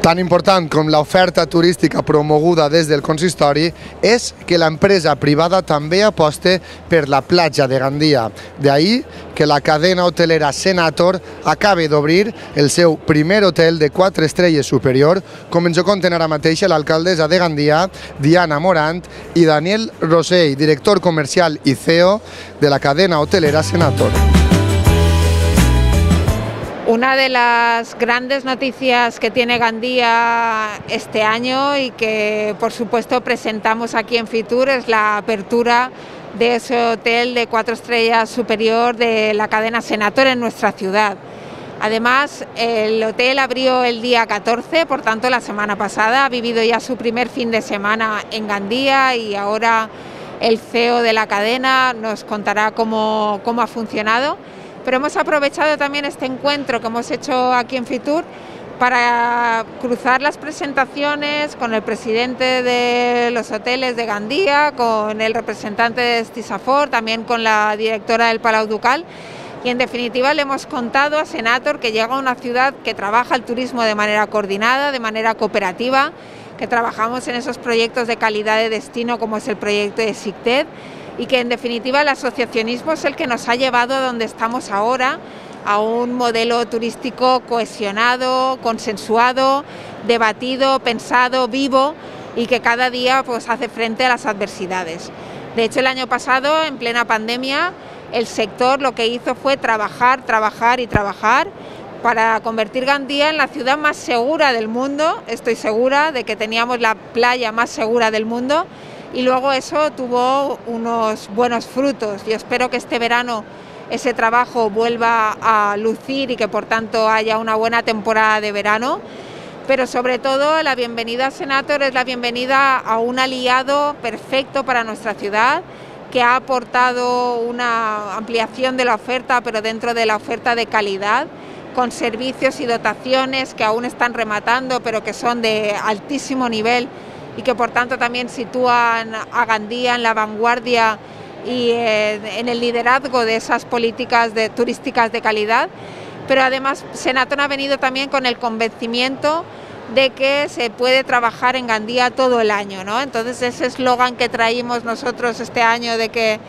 Tan important com l'oferta turística promoguda des del consistori és que l'empresa privada també aposte per la platja de Gandia. D'ahí que la cadena hotelera Senator acabi d'obrir el seu primer hotel de 4 estrelles superior, com ens ho conten ara mateix l'alcaldessa de Gandia, Diana Morant, i Daniel Rosell, director comercial i CEO de la cadena hotelera Senator. Una de las grandes noticias que tiene Gandia este año y que por supuesto presentamos aquí en Fitur es la apertura de ese hotel de 4 estrellas superior de la cadena Senator en nuestra ciudad. Además, el hotel abrió el día 14, por tanto la semana pasada, ha vivido ya su primer fin de semana en Gandia y ahora el CEO de la cadena nos contará cómo ha funcionado. Pero hemos aprovechado también este encuentro que hemos hecho aquí en Fitur para cruzar las presentaciones con el presidente de los hoteles de Gandia, con el representante de Stisafor, también con la directora del Palau Ducal. Y en definitiva le hemos contado a Senator que llega a una ciudad que trabaja el turismo de manera coordinada, de manera cooperativa, que trabajamos en esos proyectos de calidad de destino como es el proyecto de SICTED, y que en definitiva el asociacionismo es el que nos ha llevado a donde estamos ahora, a un modelo turístico cohesionado, consensuado, debatido, pensado, vivo y que cada día pues hace frente a las adversidades. De hecho, el año pasado, en plena pandemia, el sector lo que hizo fue trabajar, trabajar y trabajar para convertir Gandia en la ciudad más segura del mundo. Estoy segura de que teníamos la playa más segura del mundo. Y luego eso tuvo unos buenos frutos. Yo espero que este verano ese trabajo vuelva a lucir y que por tanto haya una buena temporada de verano. Pero sobre todo la bienvenida a Senator es la bienvenida a un aliado perfecto para nuestra ciudad, que ha aportado una ampliación de la oferta, pero dentro de la oferta de calidad, con servicios y dotaciones que aún están rematando, pero que son de altísimo nivel y que por tanto también sitúan a Gandia en la vanguardia y en el liderazgo de esas políticas turísticas de calidad. Pero además Senator ha venido también con el convencimiento de que se puede trabajar en Gandia todo el año, ¿no? Entonces ese eslogan que traímos nosotros este año de que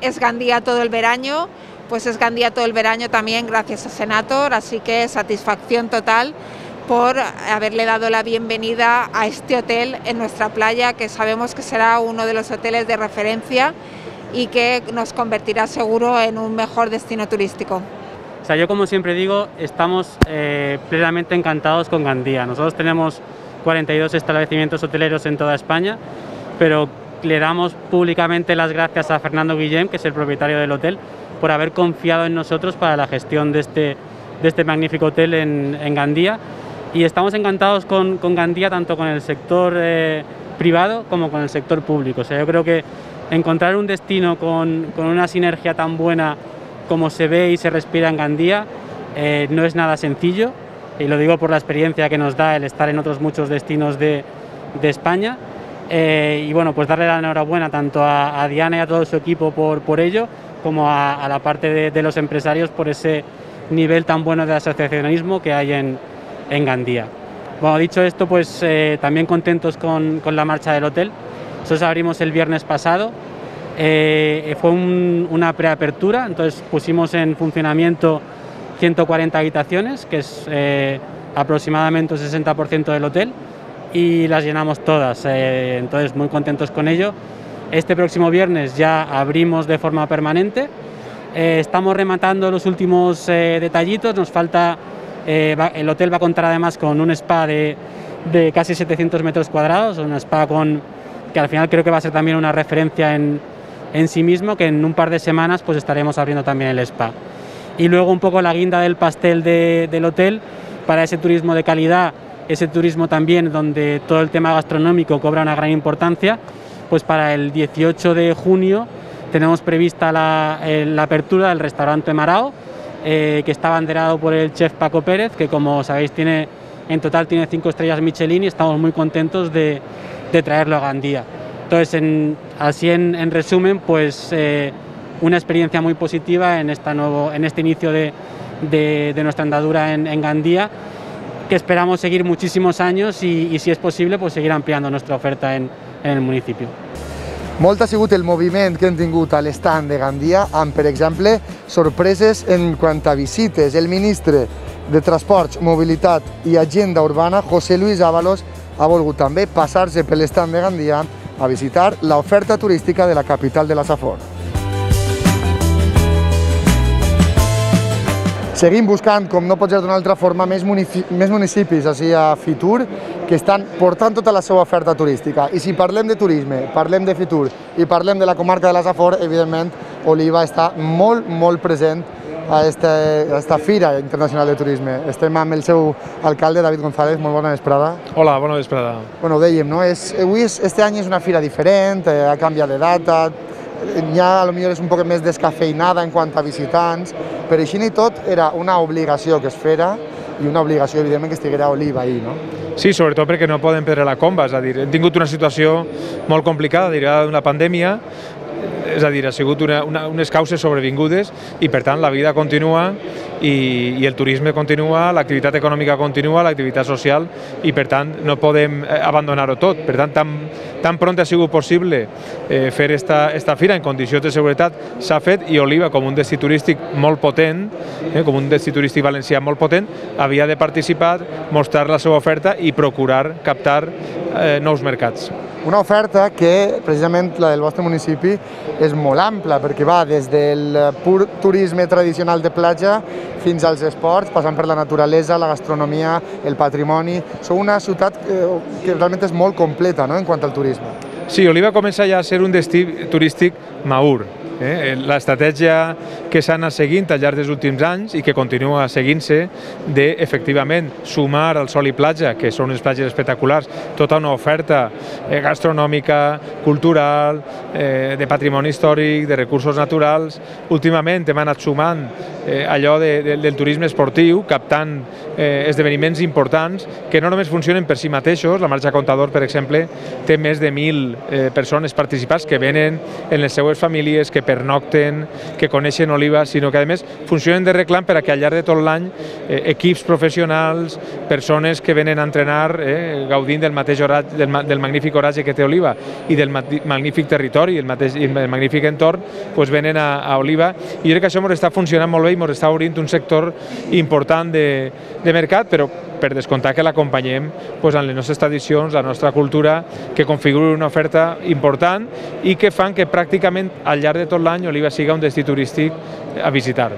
es Gandia todo el verano, pues es Gandia todo el verano también gracias a Senator, así que satisfacción total por haberle dado la bienvenida a este hotel en nuestra playa, que sabemos que será uno de los hoteles de referencia y que nos convertirá seguro en un mejor destino turístico. O sea, yo como siempre digo, estamos plenamente encantados con Gandia. Nosotros tenemos 42 establecimientos hoteleros en toda España, pero le damos públicamente las gracias a Fernando Guillem, que es el propietario del hotel, por haber confiado en nosotros para la gestión de este magnífico hotel en Gandia. Y estamos encantados con Gandia, tanto con el sector privado como con el sector público. O sea, yo creo que encontrar un destino con una sinergia tan buena como se ve y se respira en Gandia no es nada sencillo, y lo digo por la experiencia que nos da el estar en otros muchos destinos de España. Y bueno, pues darle la enhorabuena tanto a Diana y a todo su equipo por ello, como a la parte de los empresarios por ese nivel tan bueno de asociacionismo que hay en Gandia. Bueno, dicho esto, pues también contentos con la marcha del hotel. Nosotros abrimos el viernes pasado, Fue una preapertura, entonces pusimos en funcionamiento 140 habitaciones, que es aproximadamente el 60% del hotel, y las llenamos todas, entonces muy contentos con ello. Este próximo viernes ya abrimos de forma permanente, estamos rematando los últimos detallitos, nos falta, el hotel va a contar además con un spa de casi 700 metros cuadrados, un spa que al final creo que va a ser también una referencia en sí mismo, que en un par de semanas pues estaremos abriendo también el spa. Y luego un poco la guinda del pastel del hotel para ese turismo de calidad, ese turismo también donde todo el tema gastronómico cobra una gran importancia, pues para el 18 de junio tenemos prevista la apertura del restaurante Marao, que está abanderado por el chef Paco Pérez, que como sabéis en total tiene 5 estrellas Michelin, y estamos muy contentos de traerlo a Gandía. Entonces, así en resumen, pues una experiencia muy positiva en este inicio de nuestra andadura en Gandía, que esperamos seguir muchísimos años y si es posible, pues seguir ampliando nuestra oferta en el municipio. Molt ha sigut el moviment que hem tingut a l'estand de Gandia amb, per exemple, sorpreses en quant a visites. El ministre de Transports, Mobilitat i Agenda Urbana, José Luis Ábalos, ha volgut també passar-se per l'estand de Gandia a visitar l'oferta turística de la capital de la Safor. Seguim buscant, com no pot ser d'una altra forma, més municipis així a Fitur que estan portant tota la seva oferta turística. I si parlem de turisme, parlem de Fitur i parlem de la comarca de la Safor, evidentment Oliva està molt present a esta Fira Internacional de Turisme. Estem amb el seu alcalde, David González. Molt bona vesprada. Hola, bona vesprada. Bueno, ho dèiem, no? Este any és una fira diferent, ha canviat de data, ja potser és un poc més descafeinada en quant a visitants, però així i tot era una obligació que es fera i una obligació, evidentment, que estiguera Oliva ahir, no? Sí, sobretot perquè no poden perdre la comba, és a dir, hem tingut una situació molt complicada derivada d'una pandèmia, és a dir, ha sigut unes causes sobrevingudes i per tant la vida continua i el turisme continua, l'activitat econòmica continua, l'activitat social i per tant no podem abandonar-ho tot. Per tant, tan pront ha sigut possible fer esta fira en condicions de seguretat s'ha fet i Oliva, com un destí turístic molt potent, com un destí turístic valencià molt potent, havia de participar, mostrar la seva oferta i procurar captar nous mercats. Una oferta que, precisament la del vostre municipi, és molt ampla, perquè va des del pur turisme tradicional de platja fins als esports, passant per la naturalesa, la gastronomia, el patrimoni. Sou una ciutat que realment és molt completa, no?, en quant al turisme. Sí, Oliva comença ja a ser un destí turístic madur. L'estratègia que s'ha anat seguint al llarg dels últims anys i que continua seguint-se de, efectivament, sumar al sol i platja, que són unes platges espectaculars, tota una oferta gastronòmica, cultural, de patrimoni històric, de recursos naturals. Últimament hem anat sumant allò del turisme esportiu, captant esdeveniments importants que no només funcionen per si mateixos. La Marxa Contador, per exemple, té més de 1.000 persones participants que venen en les seues famílies, que pernocten, que coneixen Oliva, sinó que a més funcionen de reclam per a que al llarg de tot l'any equips professionals, persones que venen a entrenar gaudint del mateix oratge, del magnífic oratge que té Oliva i del magnífic territori i el magnífic entorn, venen a Oliva. I jo crec que això ens està funcionant molt bé i ens està obrint un sector important de mercat, però per descomptar que l'acompanyem en les nostres tradicions, la nostra cultura, que configura una oferta important i que fan que pràcticament al llarg de tot l'any Oliva siga un destí turístic a visitar.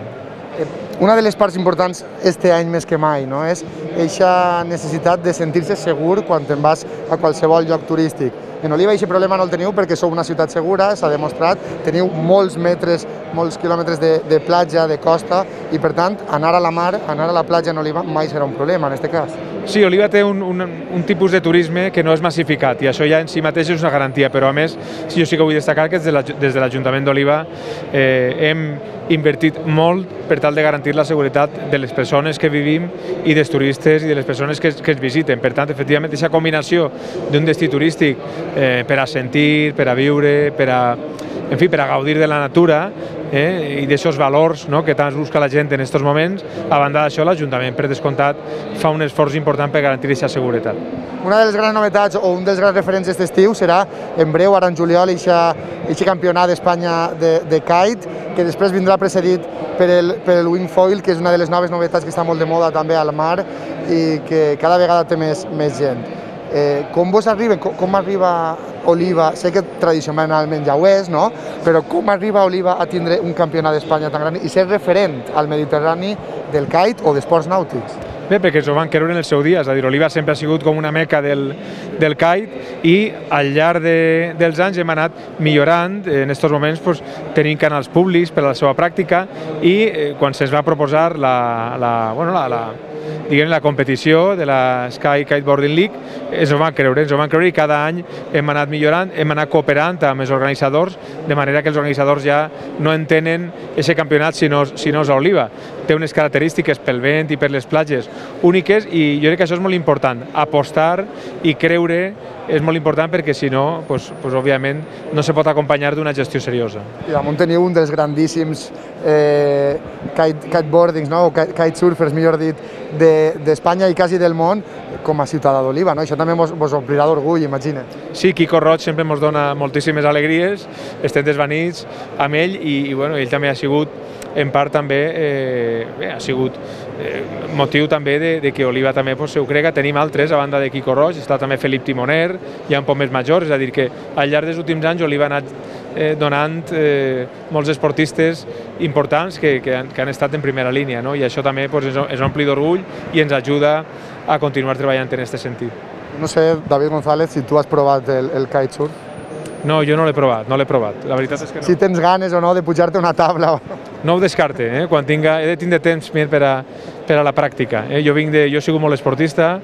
Una de les parts importants este any més que mai, no?, és aquesta necessitat de sentir-se segur quan te'n vas a qualsevol lloc turístic. En Oliva aquest problema no el teniu perquè sou una ciutat segura, s'ha demostrat, teniu molts metres, molts quilòmetres de platja, de costa, i per tant anar a la mar, anar a la platja en Oliva mai serà un problema en aquest cas. Sí, Oliva té un tipus de turisme que no és massificat i això ja en si mateix és una garantia, però a més jo sí que vull destacar que des de l'Ajuntament d'Oliva hem invertit molt per tal de garantir la seguretat de les persones que vivim i dels turistes i de les persones que ens visiten. Per tant, efectivament, aquesta combinació d'un destí turístic per a sentir, per a viure, per a gaudir de la natura, i d'aixòs valors que tant es busca la gent en aquests moments. A banda d'això, l'Ajuntament, per descomptat, fa un esforç important per garantir aquesta seguretat. Una de les grans novetats o un dels grans referents d'aquest estiu serà en breu, ara en juliol, aquest campionat d'Espanya de kite, que després vindrà precedit per el wingfoil, que és una de les noves novetats que està molt de moda també al mar i que cada vegada té més gent. Com arriba Oliva? Sé que tradicionalment ja ho és, no? Però com arriba Oliva a tindre un campionat d'Espanya tan gran i ser referent al Mediterrani del kite o d'esports nàutics? Bé, perquè ens ho van creure en el seu dia, és a dir, Oliva sempre ha sigut com una meca del kite i al llarg dels anys hem anat millorant. En aquests moments tenim canals públics per a la seva pràctica i quan se'ns va proposar la competició de la Sky Kiteboarding League ens ho van creure i cada any hem anat millorant, hem anat cooperant amb els organitzadors, de manera que els organitzadors ja no entenen aquest campionat si no és a Oliva. Té unes característiques pel vent i per les platges úniques i jo crec que això és molt important. Apostar i creure és molt important perquè si no, òbviament, no se pot acompanyar d'una gestió seriosa. I damunt teniu un dels grandíssims kiteboardings, o kitesurfers, millor dit, d'Espanya i quasi del món com a ciutadà d'Oliva. Això també vos omplirà d'orgull, imagina. Sí, Quico Roig sempre ens dona moltíssimes alegries, estem desvanits amb ell i ell també ha sigut en part també ha sigut motiu també de que Oliva també ho crega. Tenim altres, a banda de Quico Roig, està també Felip Timoner, ja un poc més major, és a dir que al llarg dels últims anys Oliva ha anat donant molts esportistes importants que han estat en primera línia, i això també ens ompli d'orgull i ens ajuda a continuar treballant en aquest sentit. No sé, David González, si tu has provat el kitesurf. No, jo no l'he provat, la veritat és que no. Si tens ganes o no de pujar-te una taula. No ho descarte, quan he de tindre temps per a la pràctica. Jo he sigut molt esportista,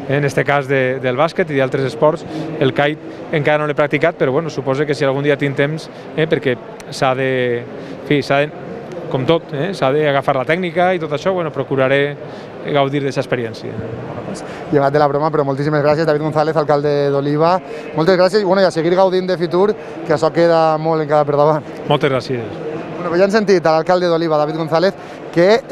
en aquest cas del bàsquet i d'altres esports. El kite encara no l'he practicat, però suposo que si algun dia tinc temps, perquè s'ha de, com tot, s'ha d'agafar la tècnica i tot això, procuraré gaudir d'aquesta experiència. Llevat de la broma, però moltíssimes gràcies, David González, alcalde d'Oliva. Moltes gràcies i a seguir gaudint de Fitur, que això queda molt encara per davant. Moltes gràcies. Ja hem sentit a l'alcalde d'Oliva, David González, que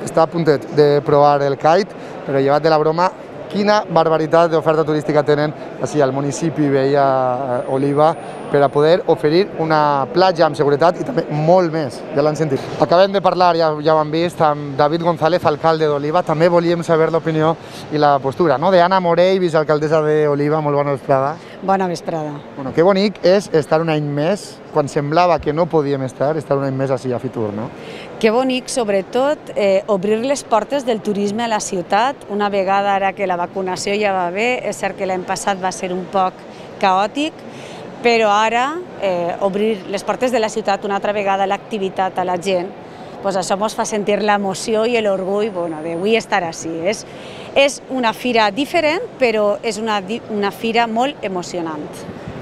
està a puntet de provar el kite, però llevat de la broma, quina barbaritat d'oferta turística tenen així al municipi veí a Oliva per a poder oferir una platja amb seguretat i també molt més, ja l'han sentit. Acabem de parlar, ja ho hem vist, amb David González, alcalde d'Oliva. També volíem saber l'opinió i la postura d'Anna Morell, vicealcaldessa d'Oliva. Molt bona vesprada. Bona vesprada. Que bonic és estar un any més, quan semblava que no podíem estar un any més així a Fitur, no? Que bonic, sobretot, obrir les portes del turisme a la ciutat, una vegada ara que la vacunació ja va bé. És cert que l'any passat va ser un poc caòtic, però ara obrir les portes de la ciutat una altra vegada, l'activitat a la gent, això ens fa sentir l'emoció i l'orgull d'avui estar així. És una fira diferent, però és una fira molt emocionant.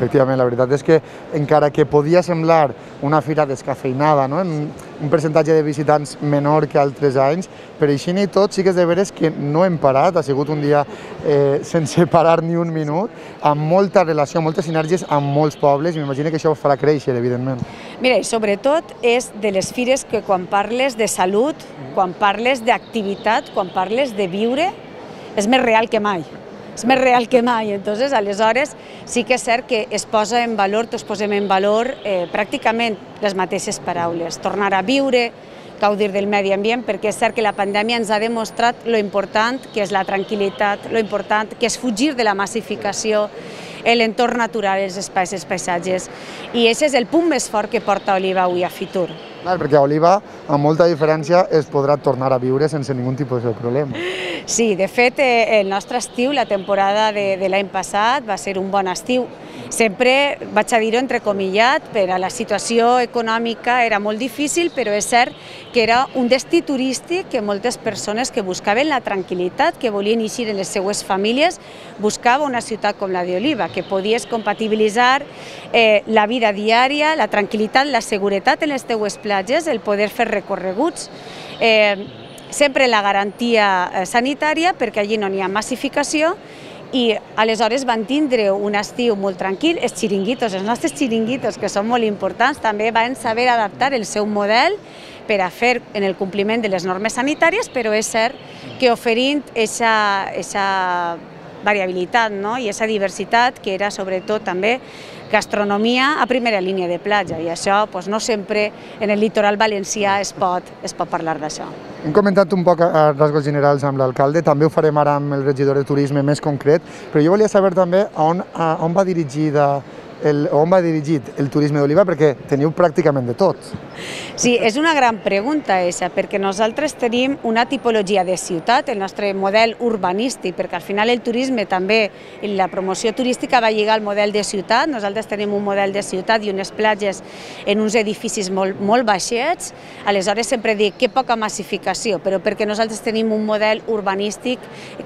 Efectivament, la veritat és que encara que podia semblar una fira descafeinada, un percentatge de visitants menor que altres anys, però així i tot sí que és de veres que no hem parat, ha sigut un dia sense parar ni un minut, amb molta relació, moltes sinergies amb molts pobles, i m'imagino que això ho farà créixer, evidentment. Mira, i sobretot és de les fires que quan parles de salut, quan parles d'activitat, quan parles de viure, és més real que mai. És més real que mai, entonces aleshores sí que és cert que es posa en valor, tots posem en valor pràcticament les mateixes paraules, tornar a viure, gaudir del medi ambient, perquè és cert que la pandèmia ens ha demostrat lo important que és la tranquil·litat, lo important que és fugir de la massificació, l'entorn natural, els espais, els paisatges, i aquest és el punt més fort que porta Oliva avui a Fitur. Clar, perquè a Oliva, amb molta diferència, es podrà tornar a viure sense ningun tipus de problema. Sí, de fet, el nostre estiu, la temporada de l'any passat, va ser un bon estiu. Sempre, vaig a dir-ho entrecomillat, per a la situació econòmica era molt difícil, però és cert que era un destí turístic que moltes persones que buscaven la tranquil·litat, que volien eixir en les seues famílies, buscava una ciutat com la d'Oliva, que podies compatibilitzar la vida diària, la tranquil·litat, la seguretat en les teues platges, el poder fer recorreguts, sempre la garantia sanitària, perquè allí no n'hi ha massificació, i aleshores van tindre un estiu molt tranquil. Els xiringuitos, els nostres xiringuitos, que són molt importants, també van saber adaptar el seu model per a fer en el compliment de les normes sanitàries, però és cert que oferint aquesta variabilitat i aquesta diversitat, que era sobretot també gastronomia a primera línia de platja, i això no sempre en el litoral valencià es pot parlar d'això. Hem comentat un poc a rasgos generals amb l'alcalde, també ho farem ara amb el regidor de turisme més concret, però jo volia saber també on va dirigit el turisme d'Oliva, perquè teniu pràcticament de tot. Sí, és una gran pregunta aquesta, perquè nosaltres tenim una tipologia de ciutat, el nostre model urbanístic, perquè al final el turisme també, la promoció turística va lligar al model de ciutat. Nosaltres tenim un model de ciutat i unes platges en uns edificis molt baixets, aleshores sempre dic que poca massificació, però perquè nosaltres tenim un model urbanístic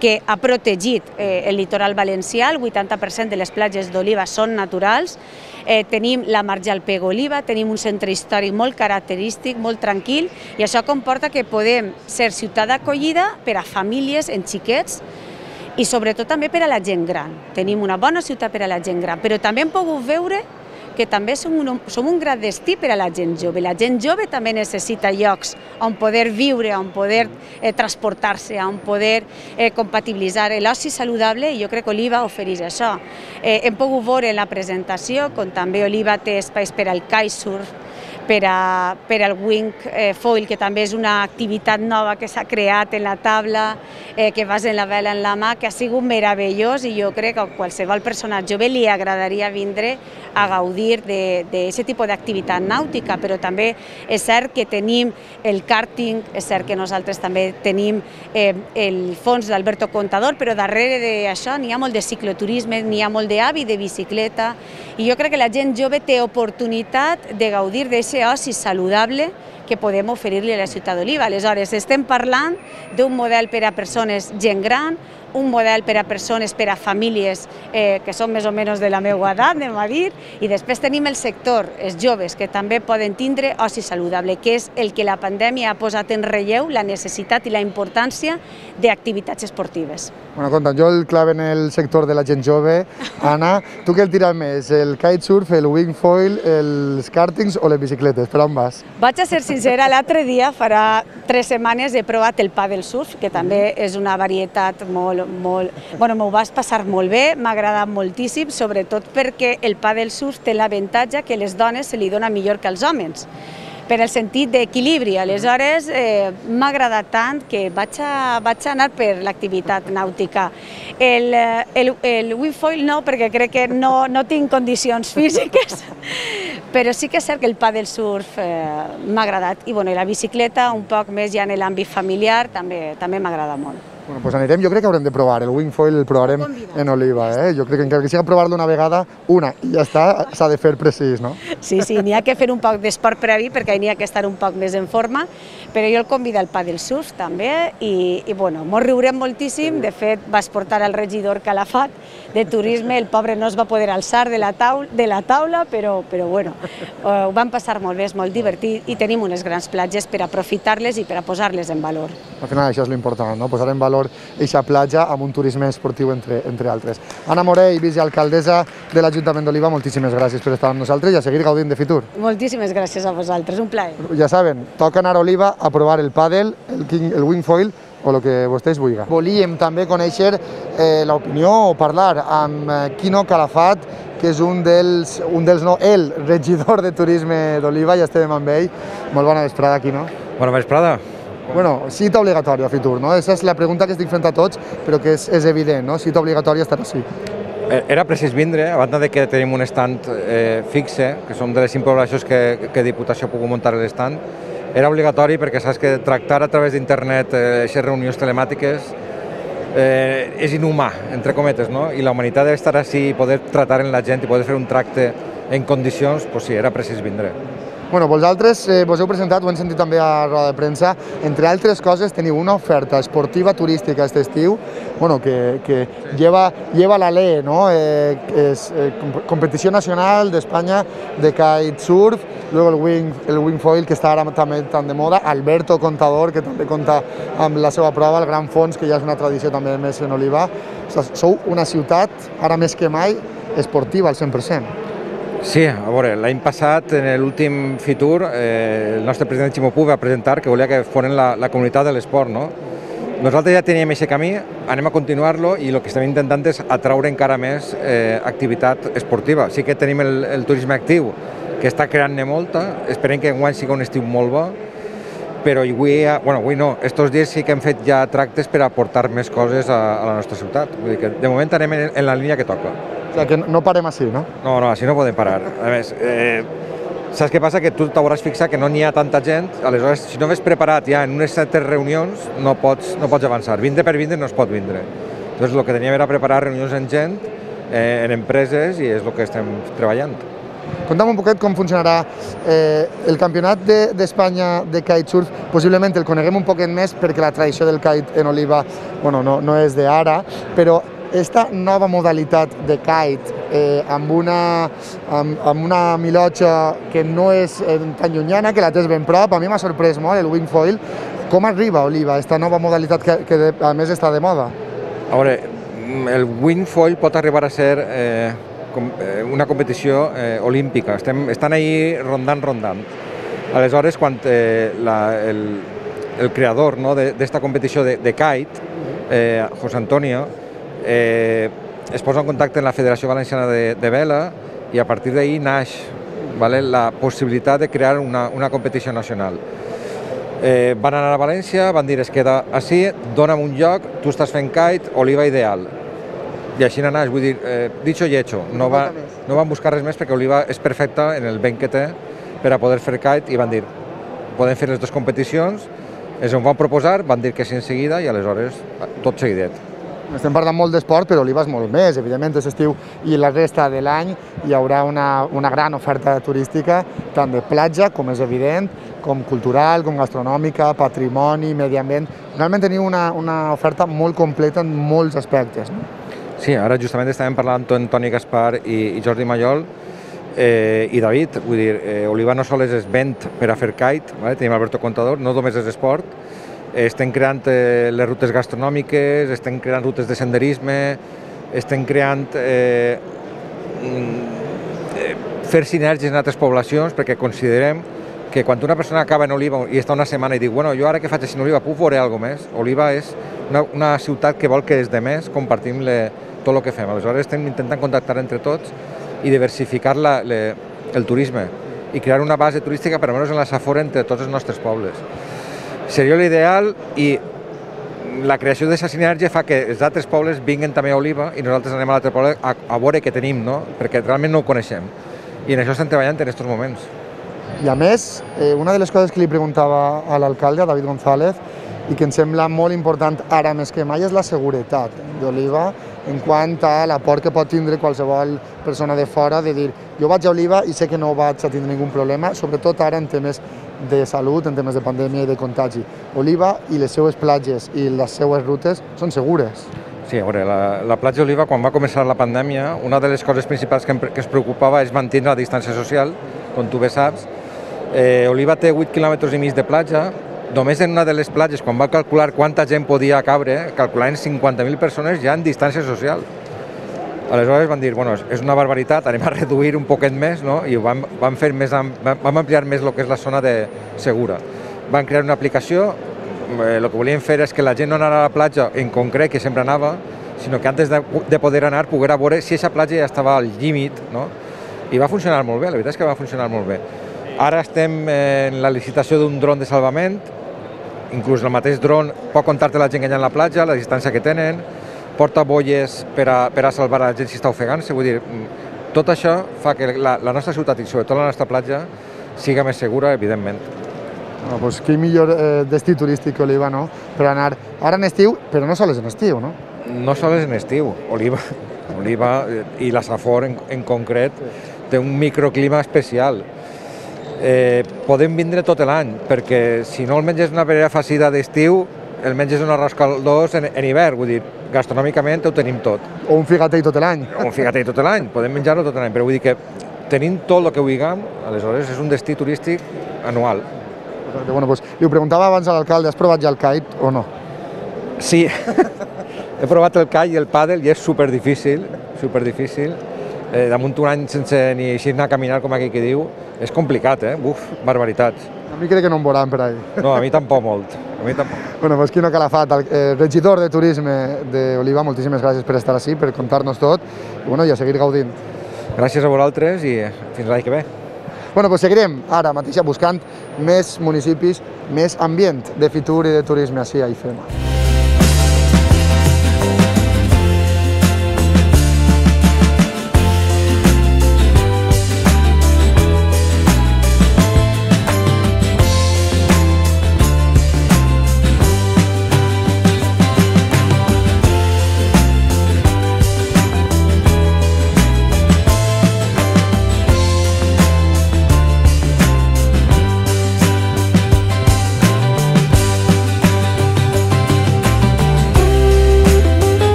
que ha protegit el litoral valencià, el 80% de les platges d'Oliva són naturals, tenim la marge al Pego Oliva, tenim un centre històric molt característic, molt tranquil, i això comporta que podem ser ciutat d'acollida per a famílies en xiquets i sobretot també per a la gent gran. Tenim una bona ciutat per a la gent gran, però també hem pogut veure que també som un gran destí per a la gent jove. La gent jove també necessita llocs on poder viure, on poder transportar-se, on poder compatibilitzar l'oci saludable, i jo crec que Oliva ofereix això. Hem pogut veure en la presentació com també Oliva té espais per al kitesurf, per al wing foil, que també és una activitat nova que s'ha creat en la taula, que vas en la vela en la mà, que ha sigut meravellós, i jo crec que a qualsevol persona jove li agradaria vindre a gaudir d'aquest tipus d'activitat nàutica. Però també és cert que tenim el kàrting, és cert que nosaltres també tenim el fons d'Alberto Contador, però darrere d'això n'hi ha molt de cicloturisme, n'hi ha molt d'hàbit de bicicleta, i jo crec que la gent jove té oportunitat de gaudir d'aquest oci saludable que podem oferir-li a la ciutat d'Oliva. Aleshores, estem parlant d'un model per a persones gent gran, un model per a persones, per a famílies que són més o menys de la meva edat, anem a dir, i després tenim el sector, els joves, que també poden tindre oci saludable, que és el que la pandèmia ha posat en relleu, la necessitat i la importància d'activitats esportives. Bueno, compte, jo el clave en el sector de la gent jove. Anna, tu què el tires més? El kitesurf, el wingfoil, els kàrtings o les bicicletes? Per on vas? Vaig a ser sincera, l'altre dia, farà 3 setmanes, he provat el paddle surf, que també és una varietat molt... Bueno, m'ho vas passar molt bé, m'ha agradat moltíssim, sobretot perquè el paddle surf té l'avantatge que a les dones se li dona millor que als homes, per el sentit d'equilibri. Aleshores, m'ha agradat tant que vaig anar per l'activitat nàutica. El wingfoil no, perquè crec que no tinc condicions físiques, però sí que és cert que el paddle surf m'ha agradat. I la bicicleta, un poc més ja en l'àmbit familiar, també m'agrada molt. Bueno, doncs anirem, jo crec que haurem de provar, el wingfoil el provarem en Oliva, jo crec que encara que sigui provar-lo una vegada, i ja està, s'ha de fer precís, no? Sí, n'hi ha que fer un poc d'esport previ perquè n'hi ha que estar un poc més en forma, però jo el convido al paddle surf també, i mos riurem moltíssim. De fet, vas portar al regidor Calafat de turisme, el pobre no es va poder alçar de la taula, però ho vam passar molt bé, és molt divertit, i tenim unes grans platges per aprofitar-les i per a posar-les en valor. Al final això és l'important, no? Posar en valor aquesta platja amb un turisme esportiu, entre altres. Anna Morell, vicealcaldessa de l'Ajuntament d'Oliva, moltíssimes gràcies per estar amb nosaltres i a seguir gaudint de Fitur. Moltíssimes gràcies a vosaltres, un plaer. Ja saben, toca anar a Oliva a provar el pàdel, el wingfoil o el que vostès vulguin. Volíem també conèixer l'opinió o parlar amb Quino Calafat, que és el regidor de turisme d'Oliva, ja estem amb ell. Molt bona vesprada, Quino. Bona vesprada. Bueno, cita obligatòria a Fitur, no? Aquesta és la pregunta que estic fent a tots, però que és evident, no? Cita obligatòria estar així. Era precís vindre, a banda de que tenim un estand fixe, que som de les 5 poblacions que Diputació ha pogut muntar l'estand. Era obligatori perquè saps que tractar a través d'internet aquestes reunions telemàtiques és inhumà, entre cometes, no? I la humanitat d'estar així i poder tratar amb la gent i poder fer un tracte en condicions, doncs sí, era precís vindre. Bueno, vosaltres vos heu presentat, ho hem sentit també a roda de premsa, entre altres coses teniu una oferta esportiva turística aquest estiu, bueno, que lleva la ley, ¿no? Es competición nacional de España de kitesurf, luego el wingfoil, que està ara també tan de moda, Alberto Contador, que també compta amb la seva prova, el Gran Fons, que ja és una tradició també més en Oliva. Sou una ciutat, ara més que mai, esportiva al 100%. Sí, a veure, l'any passat, en l'últim Fitur, el nostre president Ximo Puig va presentar que volia que foren la comunitat de l'esport, no? Nosaltres ja teníem aquest camí, anem a continuar-lo i el que estem intentant és atraure encara més activitat esportiva. Sí que tenim el turisme actiu, que està creant-ne molta, esperem que enguany sigui un estiu molt bo, però avui no, estos dies sí que hem fet ja tractes per aportar més coses a la nostra ciutat. Vull dir que de moment anem en la línia que toca. O sigui que no parem així, no? No, així no podem parar. A més, saps què passa? Que tu t'hauràs fixat que no n'hi ha tanta gent, aleshores, si no ves preparat ja en unes certes reunions, no pots avançar. Vindre per vindre no es pot vindre. Llavors, el que teníem era preparar reunions amb gent, en empreses, i és el que estem treballant. Conta'm un poquet com funcionarà el campionat d'Espanya de kitesurf. Possiblement el coneguem un poquet més perquè la tradició del kite en Oliva no és d'ara, però esta nova modalitat de kite amb una milotxa que no és tan llunyana, que la tens ben prop, a mi m'ha sorprès molt el wingfoil. Com arriba a Oliva aquesta nova modalitat que a més està de moda? A veure, el wingfoil pot arribar a ser una competició olímpica. Estan ahí rondant. Aleshores, quan el creador d'esta competició de kite, José Antonio, es posa en contacte amb la Federació Valenciana de Vela i a partir d'ahir naix la possibilitat de crear una competició nacional. Van anar a València, van dir es queda així, dona'm un lloc, tu estàs fent kite, Oliva ideal. I així naix, vull dir, dicho y hecho. No van buscar res més perquè Oliva és perfecta en el vent que té per a poder fer kite i van dir, podem fer les dues competicions, ens ho van proposar, van dir que sí en seguida i aleshores tot seguidet. Estem parlant molt d'esport, però Oliva és molt més. Evidentment, aquest estiu i la resta de l'any hi haurà una gran oferta turística, tant de platja, com és evident, com cultural, com gastronòmica, patrimoni, medi ambient. Realment teniu una oferta molt completa en molts aspectes. Sí, ara justament estàvem parlant amb Toni Gaspar i Jordi Mallol i David. Vull dir, Oliva no sols és vent per a fer kite, tenim Alberto Contador, no només és esport, estem creant les rutes gastronòmiques, estem creant rutes de senderisme, estem creant fer sinergies en altres poblacions, perquè considerem que quan una persona acaba en Oliva i està una setmana i diu, bueno, jo ara que faig així en Oliva puc veure alguna cosa més? Oliva és una ciutat que vol que els demés compartim tot el que fem. Aleshores estem intentant contactar entre tots i diversificar el turisme i crear una base turística per almenys en la Safor entre tots els nostres pobles. Seria l'ideal i la creació d'aquesta sinergia fa que els altres pobles vinguin també a Oliva i nosaltres anem a l'altre poble a veure què tenim, perquè realment no ho coneixem. I en això estem treballant en aquests moments. I a més, una de les coses que li preguntava a l'alcalde, a David González, i que em sembla molt important ara més que mai, és la seguretat d'Oliva en quant a la por que pot tindre qualsevol persona de fora de dir jo vaig a Oliva i sé que no vaig a tindre ningun problema, sobretot ara en temes de salut, en temes de pandèmia i de contagi. Oliva i les seues platges i les seues rutes són segures. Sí, a veure, la platja Oliva, quan va començar la pandèmia, una de les coses principals que es preocupava és mantenir la distància social, com tu bé saps. Oliva té 8 quilòmetres i mig de platja. Només en una de les platges, quan va calcular quanta gent podia cabre, calculaven 50.000 persones ja en distància social. Aleshores van dir, bueno, és una barbaritat, anem a reduir un poquet més, i vam ampliar més el que és la zona segura. Van crear una aplicació, el que volíem fer és que la gent no anara a la platja en concret, que sempre anava, sinó que antes de poder anar, poguera veure si aquesta platja ja estava al límit, i va funcionar molt bé, la veritat és que va funcionar molt bé. Ara estem en la licitació d'un dron de salvament, inclús el mateix dron pot comptar-te la gent que hi ha a la platja, la distància que tenen, porta boies per a salvar la gent si està ofegant-se. Vull dir, tot això fa que la nostra ciutat i sobretot la nostra platja siga més segura, evidentment. Doncs quin millor destí turístic que Oliva, no? Per anar ara en estiu, però no sols en estiu, no? No sols en estiu. Oliva i la Safor en concret té un microclima especial. podem vindre tot l'any, perquè si no el menges una paella farcida d'estiu, el menges un arròs caldós en hivern, vull dir, gastronòmicament ho tenim tot. O un figatell tot l'any. O un figatell tot l'any, podem menjar-lo tot l'any, però vull dir que tenim tot el que vulguem, aleshores és un destí turístic anual. Bueno, doncs, li ho preguntava abans a l'alcalde, has provat ja el kite o no? Sí, he provat el kite i el pàdel i és superdifícil, superdifícil. Damunt un any sense ni eixir a caminar, com aquí que diu, és complicat, Buf, barbaritats. A mi crec que no em veuran per ahí. No, a mi tampoc molt. A mi tampoc. Bueno, pues Quino Calafat, el regidor de Turisme d'Oliva, moltíssimes gràcies per estar així, per contar-nos tot, i a seguir gaudint. Gràcies a vosaltres i fins l'any que ve. Bueno, doncs seguirem ara mateix buscant més municipis, més ambient de Fitur i de turisme així a IFEMA.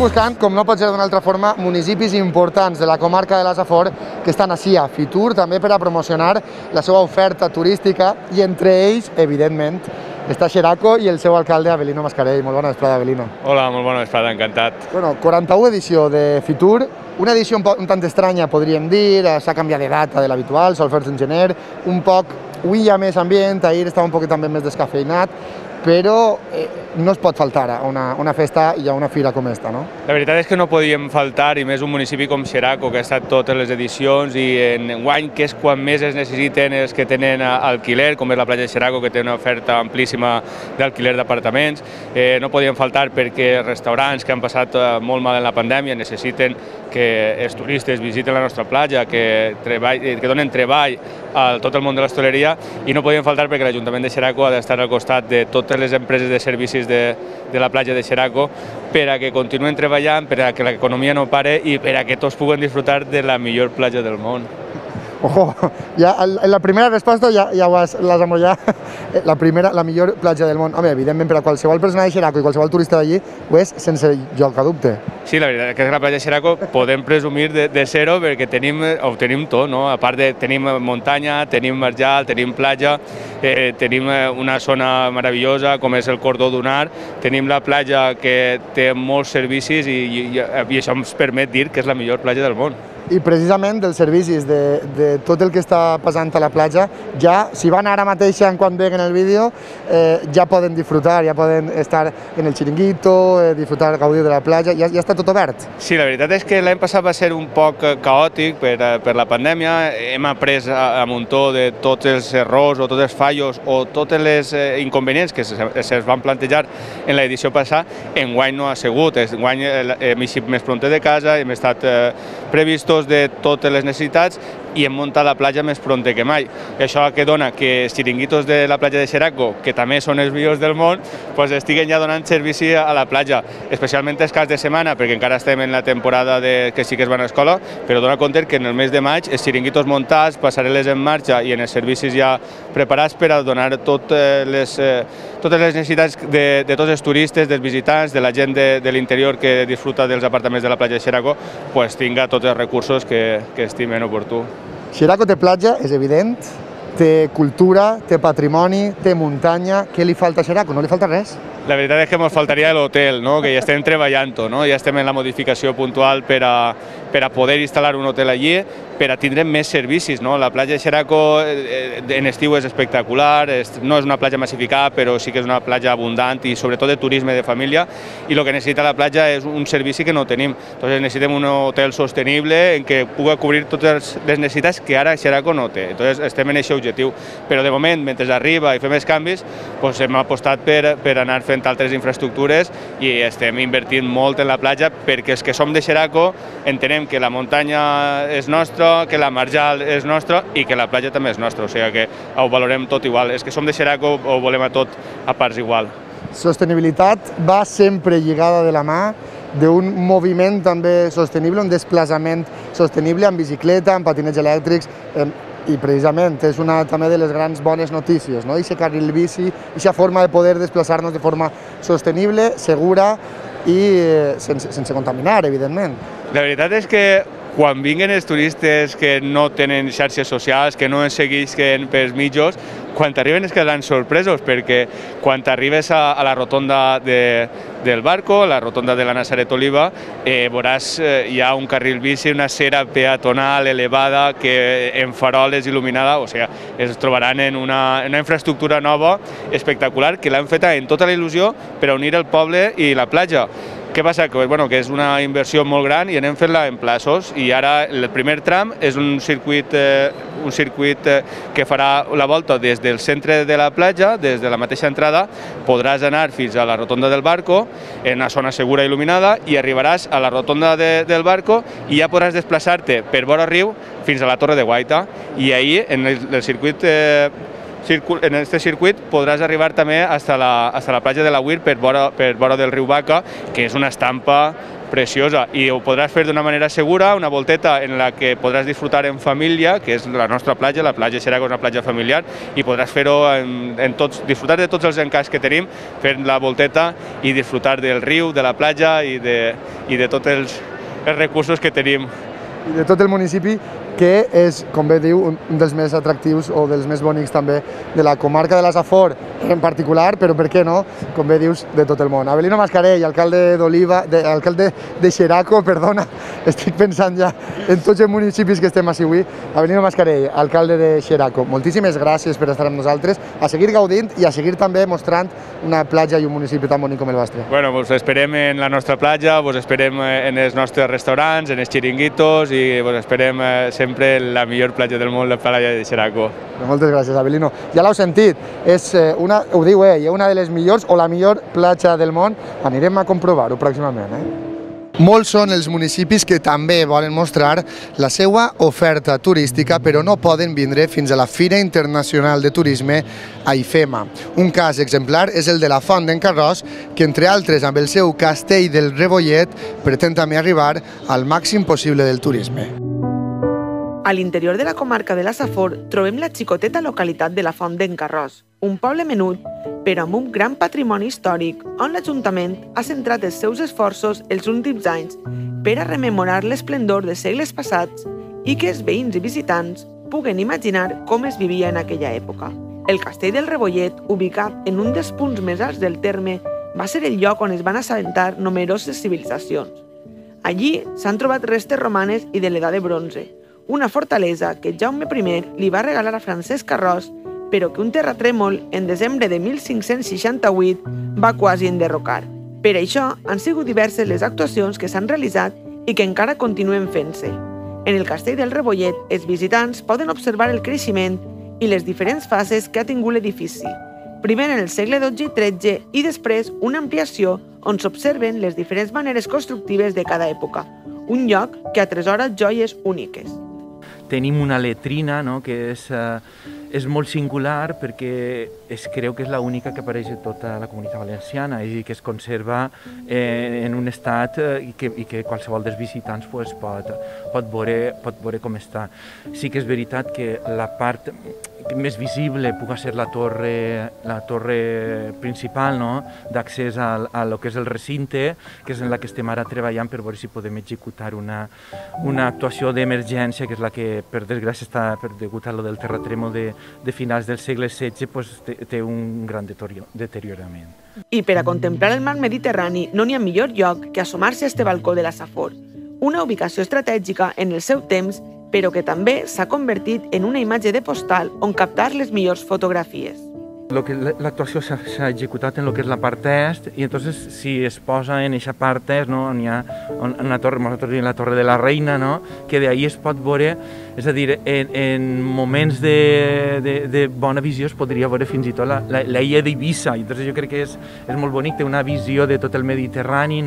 Buscant, com no pot ser d'una altra forma, municipis importants de la comarca de la Safor que estan així a Fitur, també per a promocionar la seva oferta turística i entre ells, evidentment, està Xeraco i el seu alcalde Avelino Mascarell. Molt bona vesprada, Avelino. Hola, molt bona vesprada, encantat. Bueno, 41 edició de Fitur, una edició un tant estranya, podríem dir, s'ha canviat de data de l'habitual, sol fer-se en gener, un poc, avui hi ha més ambient, ahir estava un poc també més descafeinat, però no es pot faltar a una festa i a una fira com esta, no? La veritat és que no podíem faltar, i més un municipi com Xeraco, que ha estat totes les edicions, i enguany, que és quan més es necessiten els que tenen alquiler, com és la platja de Xeraco, que té una oferta amplíssima d'alquiler d'apartaments. No podíem faltar perquè restaurants que han passat molt mal en la pandèmia necessiten que els turistes visiten la nostra platja, que donen treball a tot el món de l'hostaleria, i no podíem faltar perquè l'Ajuntament de Xeraco ha d'estar al costat de totes les empreses de servicis de la platja de Xeraco per a que continuen treballant, per a que l'economia no pare i per a que tots puguen disfrutar de la millor platja del món. Ojo, ja en la primera resposta ja l'has amollat, la millor platja del món. Home, evidentment, per a qualsevol persona de Xeraco i qualsevol turista d'allí, ho és sense lloc a dubte. Sí, la veritat és que la platja de Xeraco podem presumir de ser-ho perquè ho tenim tot, no? A part de tenim muntanya, tenim marjal, tenim platja, tenim una zona meravellosa com és el cordó dunar, tenim la platja que té molts servicis i això ens permet dir que és la millor platja del món. I precisament dels servicis, de tot el que està passant a la platja, ja, si van ara mateix quan veguen el vídeo, ja poden disfrutar, ja poden estar en el xiringuito, disfrutar, gaudir de la platja, ja està tot obert. Sí, la veritat és que l'any passat va ser un poc caòtic per la pandèmia, hem après a muntó de tots els errors o tots els fallos o tots els inconvenients que se'ls van plantejar en l'edició passada. Enguany no ha sigut, enguany hem eixit més prompte de casa, hem estat previstos de totes les necessitats i hem muntat la platja més prompte que mai. I això que dona que els xiringuitos de la platja de Xeraco, que també són els millors del món, estiguen ja donant servici a la platja, especialment els caps de setmana, perquè encara estem en la temporada que sí que es van a escola, però dona compte que en el mes de maig els xiringuitos muntats, passarel·les en marxa i en els servicis ja preparats per a donar totes les necessitats de tots els turistes, dels visitants, de la gent de l'interior que disfruta dels apartaments de la platja de Xeraco, tinga tots els recursos que estimen oportú. Xeraco té platja, és evident, té cultura, té patrimoni, té muntanya. Què li falta a Xeraco? No li falta res? La veritat és que ens faltaria l'hotel, que ja estem treballant-ho, ja estem en la modificació puntual per a poder instal·lar un hotel allí, per a tindre més servicis. La platja de Xeraco en estiu és espectacular, no és una platja massificada, però sí que és una platja abundant i sobretot de turisme de família, i el que necessita la platja és un servici que no tenim. Entonces necessitem un hotel sostenible en què pugui cobrir totes les necessitats que ara Xeraco no té. Entonces estem en aquest objectiu, però de moment, mentre arriba i fem els canvis, hem apostat per anar fent altres infraestructures i estem invertint molt en la platja perquè els que som de Xeraco entenem que la muntanya és nostra, que la marjal és nostra i que la platja també és nostra, o sigui que ho valorem tot igual. Els que som de Xeraco ho volem a tot a parts igual. Sostenibilitat va sempre lligada de la mà d'un moviment també sostenible, un desplaçament sostenible amb bicicleta, amb patinets elèctrics, i precisament és una també de les grans bones notícies, no? Aquest carril bici, aquesta forma de poder desplaçar-nos de forma sostenible, segura i sense contaminar, evidentment. La veritat és que quan vinguen els turistes que no tenen xarxes socials, que no ens segueixen pels mitjos, quan t'arriben es quedaran sorpresos, perquè quan t'arribes a la rotonda del Barco, la rotonda de la Nazaret Oliva, veuràs hi ha un carril bici, una acera peatonal elevada en faroles il·luminada, o sigui, es trobaran en una infraestructura nova espectacular que l'han feta en tota la il·lusió per a unir el poble i la platja. Què passa? Que és una inversió molt gran i anem fent-la en plaços, i ara el primer tram és un circuit que farà la volta des del centre de la platja, des de la mateixa entrada, podràs anar fins a la rotonda del Barco, en una zona segura i il·luminada, i arribaràs a la rotonda del Barco i ja podràs desplaçar-te per vora riu fins a la Torre de Guaita, i ahir en el circuit en aquest circuit podràs arribar també fins a la platja de la Huir per vora del riu Baca, que és una estampa preciosa, i ho podràs fer d'una manera segura, una volteta en la que podràs disfrutar en família, que és la nostra platja, la platja Xeraco és una platja familiar, i podràs fer-ho disfrutar de tots els encaics que tenim, fer la volteta i disfrutar del riu, de la platja i de tots els recursos que tenim. I de tot el municipi, que és, com bé diu, un dels més atractius o dels més bonics també de la comarca de la Safor en particular, però per què no, com bé dius, de tot el món. Avelino Mascarell, alcalde de Xeraco, perdona, estic pensant ja en tots els municipis que estem així avui. Avelino Mascarell, alcalde de Xeraco, moltíssimes gràcies per estar amb nosaltres, a seguir gaudint i a seguir també mostrant una platja i un municipi tan bonic com el vostre. Bueno, vos esperem en la nostra platja, vos esperem en els nostres restaurants, en els xiringuitos, i vos esperem sempre la millor platja del món, la platja de Xeraco. Moltes gràcies, Avelino. Ja l'heu sentit, ho diu ell, una de les millors o la millor platja del món. Anirem a comprovar-ho pròximament. Molts són els municipis que també volen mostrar la seva oferta turística, però no poden vindre fins a la Fira Internacional de Turisme a IFEMA. Un cas exemplar és el de la Font d'en Carròs, que entre altres amb el seu castell del Rebollet pretén també arribar al màxim possible del turisme. A l'interior de la comarca de la Safor trobem la xicoteta localitat de la Font d'en Carròs, un poble menut, però amb un gran patrimoni històric, on l'Ajuntament ha centrat els seus esforços els últims anys per a rememorar l'esplendor de segles passats i que els veïns i visitants puguen imaginar com es vivia en aquella època. El castell del Rebollet, ubicat en un dels punts més alts del terme, va ser el lloc on es van assentar numeroses civilitzacions. Allí s'han trobat restes romanes i de l'edat de bronze, una fortalesa que Jaume I li va regalar a Francesc Carròs, però que un terratrèmol en desembre de 1568 va quasi enderrocar. Per això han sigut diverses les actuacions que s'han realitzat i que encara continuen fent-se. En el castell del Rebollet, els visitants poden observar el creixement i les diferents fases que ha tingut l'edifici, primer en el segle XII i XIII i després una ampliació on s'observen les diferents maneres constructives de cada època, un lloc que atresora joies úniques. Tenim una letrina, que és molt singular perquè es creu que és l'única que apareix a tota la Comunitat Valenciana i que es conserva en un estat i que qualsevol dels visitants pot veure com està. Sí que és veritat que la part més visible pugui ser la torre principal d'accés a lo que és el recinte, que és en la que estem ara treballant per veure si podem executar una actuació d'emergència, que és la que, per desgràcia, està degut a lo del terratrèmol de finals del segle XVI, té un gran deteriorament. I per a contemplar el mar Mediterrani no n'hi ha millor lloc que assomar-se a este balcó de la Safor, una ubicació estratègica en el seu temps, però que també s'ha convertit en una imatge de postal on captar les millors fotografies. L'actuació s'ha executat en el que és la part est i entonces si es posa en aquesta part est on hi ha una torre, la Torre de la Reina, que d'ahir es pot veure, és a dir, en moments de bona visió es podria veure fins i tot l'illa d'Eivissa, i jo crec que és molt bonic, té una visió de tot el Mediterrani,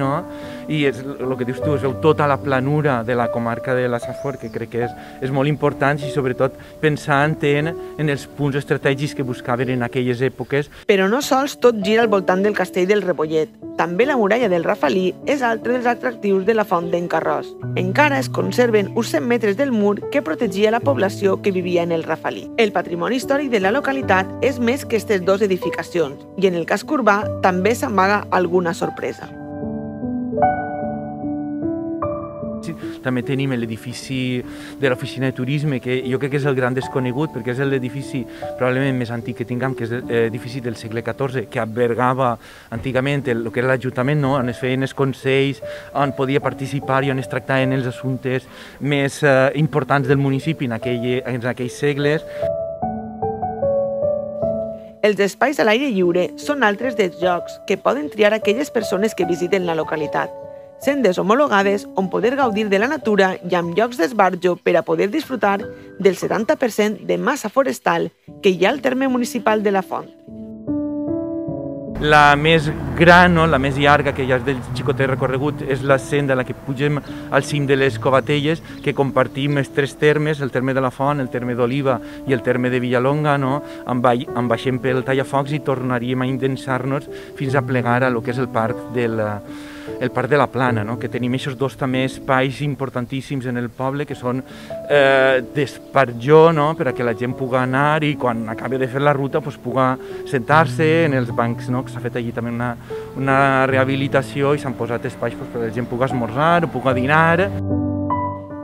i el que dius tu, es veu tota la planura de la comarca de la Safor, que crec que és molt important i sobretot pensant en els punts estratègics que buscaven en aquelles èpoques. Però no sols tot gira al voltant del castell del Rebollet. També la muralla del Rafalí és altre dels atractius de la Font d'en Carròs. Encara es conserven uns 100 metres del mur que protegia la població que vivia en el Rafalí. El patrimoni històric de la localitat és més que aquestes dues edificacions i en el casc urbà també s'amaga alguna sorpresa. També tenim l'edifici de l'oficina de turisme, que jo crec que és el gran desconegut, perquè és l'edifici probablement més antic que tinguem, que és l'edifici del segle XIV, que albergava antigament el que era l'Ajuntament, on es feien els consells, on podia participar i on es tractaven els assumptes més importants del municipi en aquells segles. Els espais a l'aire lliure són altres dels llocs que poden triar aquelles persones que visiten la localitat. Sendes homologades on poder gaudir de la natura i amb llocs d'esbarjo per a poder disfrutar del 70% de massa forestal que hi ha al terme municipal de la Font. La més gran, la més llarga, que ja és del xicotet recorregut, és la senda a la que pugem al cim de les Covatelles, que compartim els tres termes, el terme de la Font, el terme d'Oliva i el terme de Villalonga, en baixem pel Tallafocs i tornaríem a indensar-nos fins a plegar a lo que és el parc de la Plana, que tenim aquests dos també espais importantíssims en el poble, que són d'esbarjo, per a que la gent pugui anar i quan acabi de fer la ruta pugui sentar-se en els bancs, que s'ha fet allí també una rehabilitació i s'han posat espais perquè la gent pugui esmorzar o pugui dinar.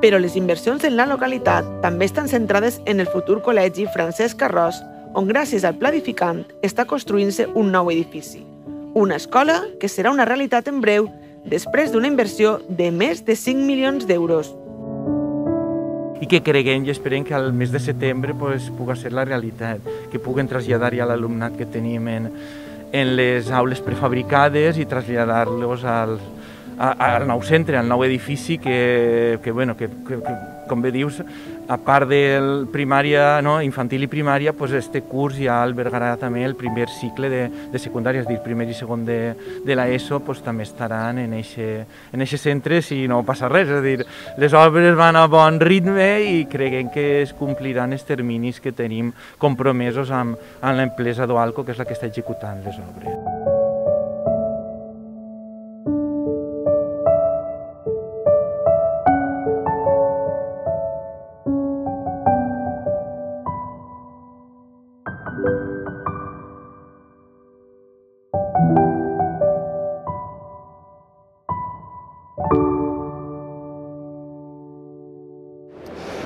Però les inversions en la localitat també estan centrades en el futur col·legi Francesc Carròs, on gràcies al pla edificant està construint-se un nou edifici. Una escola que serà una realitat en breu després d'una inversió de més de 5 milions d'euros. I que creguem i esperem que al mes de setembre pugui ser la realitat, que puguen traslladar ja l'alumnat que tenim en les aules prefabricades i traslladar-los al nou centre, al nou edifici que com bé dius, a part de primària, infantil i primària, este curs ja albergarà també el primer cicle de secundària, és a dir, primer i segon de l'ESO, també estaran en aquest centre si no passa res, és a dir, les obres van a bon ritme i creguem que es compliran els terminis que tenim compromesos amb l'empresa d'Oalco, que és la que està executant les obres.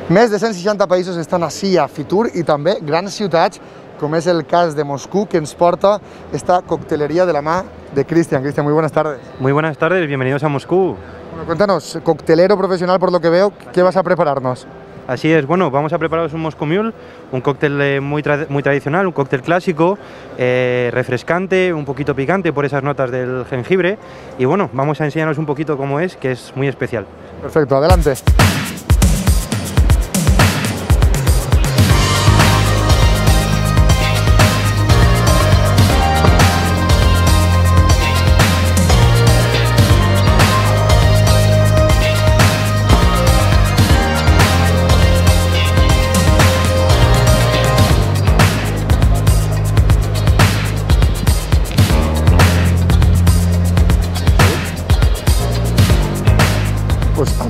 Més de 160 països estan ací a Fitur i també grans ciutats, com és el cas de Moscú, que ens porta esta coctelería de la mano de Cristian. Cristian, muy buenas tardes. Muy buenas tardes, bienvenidos a Moscú. Bueno, cuéntanos, coctelero profesional por lo que veo, ¿qué vas a prepararnos? Así es, bueno, vamos a prepararos un Moscow Mule, un cóctel muy tradicional, un cóctel clásico, refrescante, un poquito picante por esas notas del jengibre. Y bueno, vamos a enseñaros un poquito cómo es, que es muy especial. Perfecto, adelante.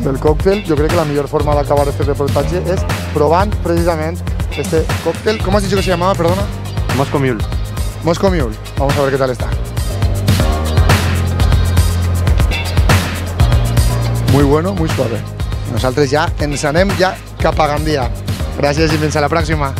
El còctel, jo crec que la millor forma d'acabar este reportatge és provant precisament este còctel. ¿Cómo has dicho que se llamaba, perdona? Moscow Mule. Moscow Mule. Vamos a ver qué tal está. Muy bueno, muy suave. Nosaltres ja ens anem cap a Gandia. Gràcies i fins a la pròxima.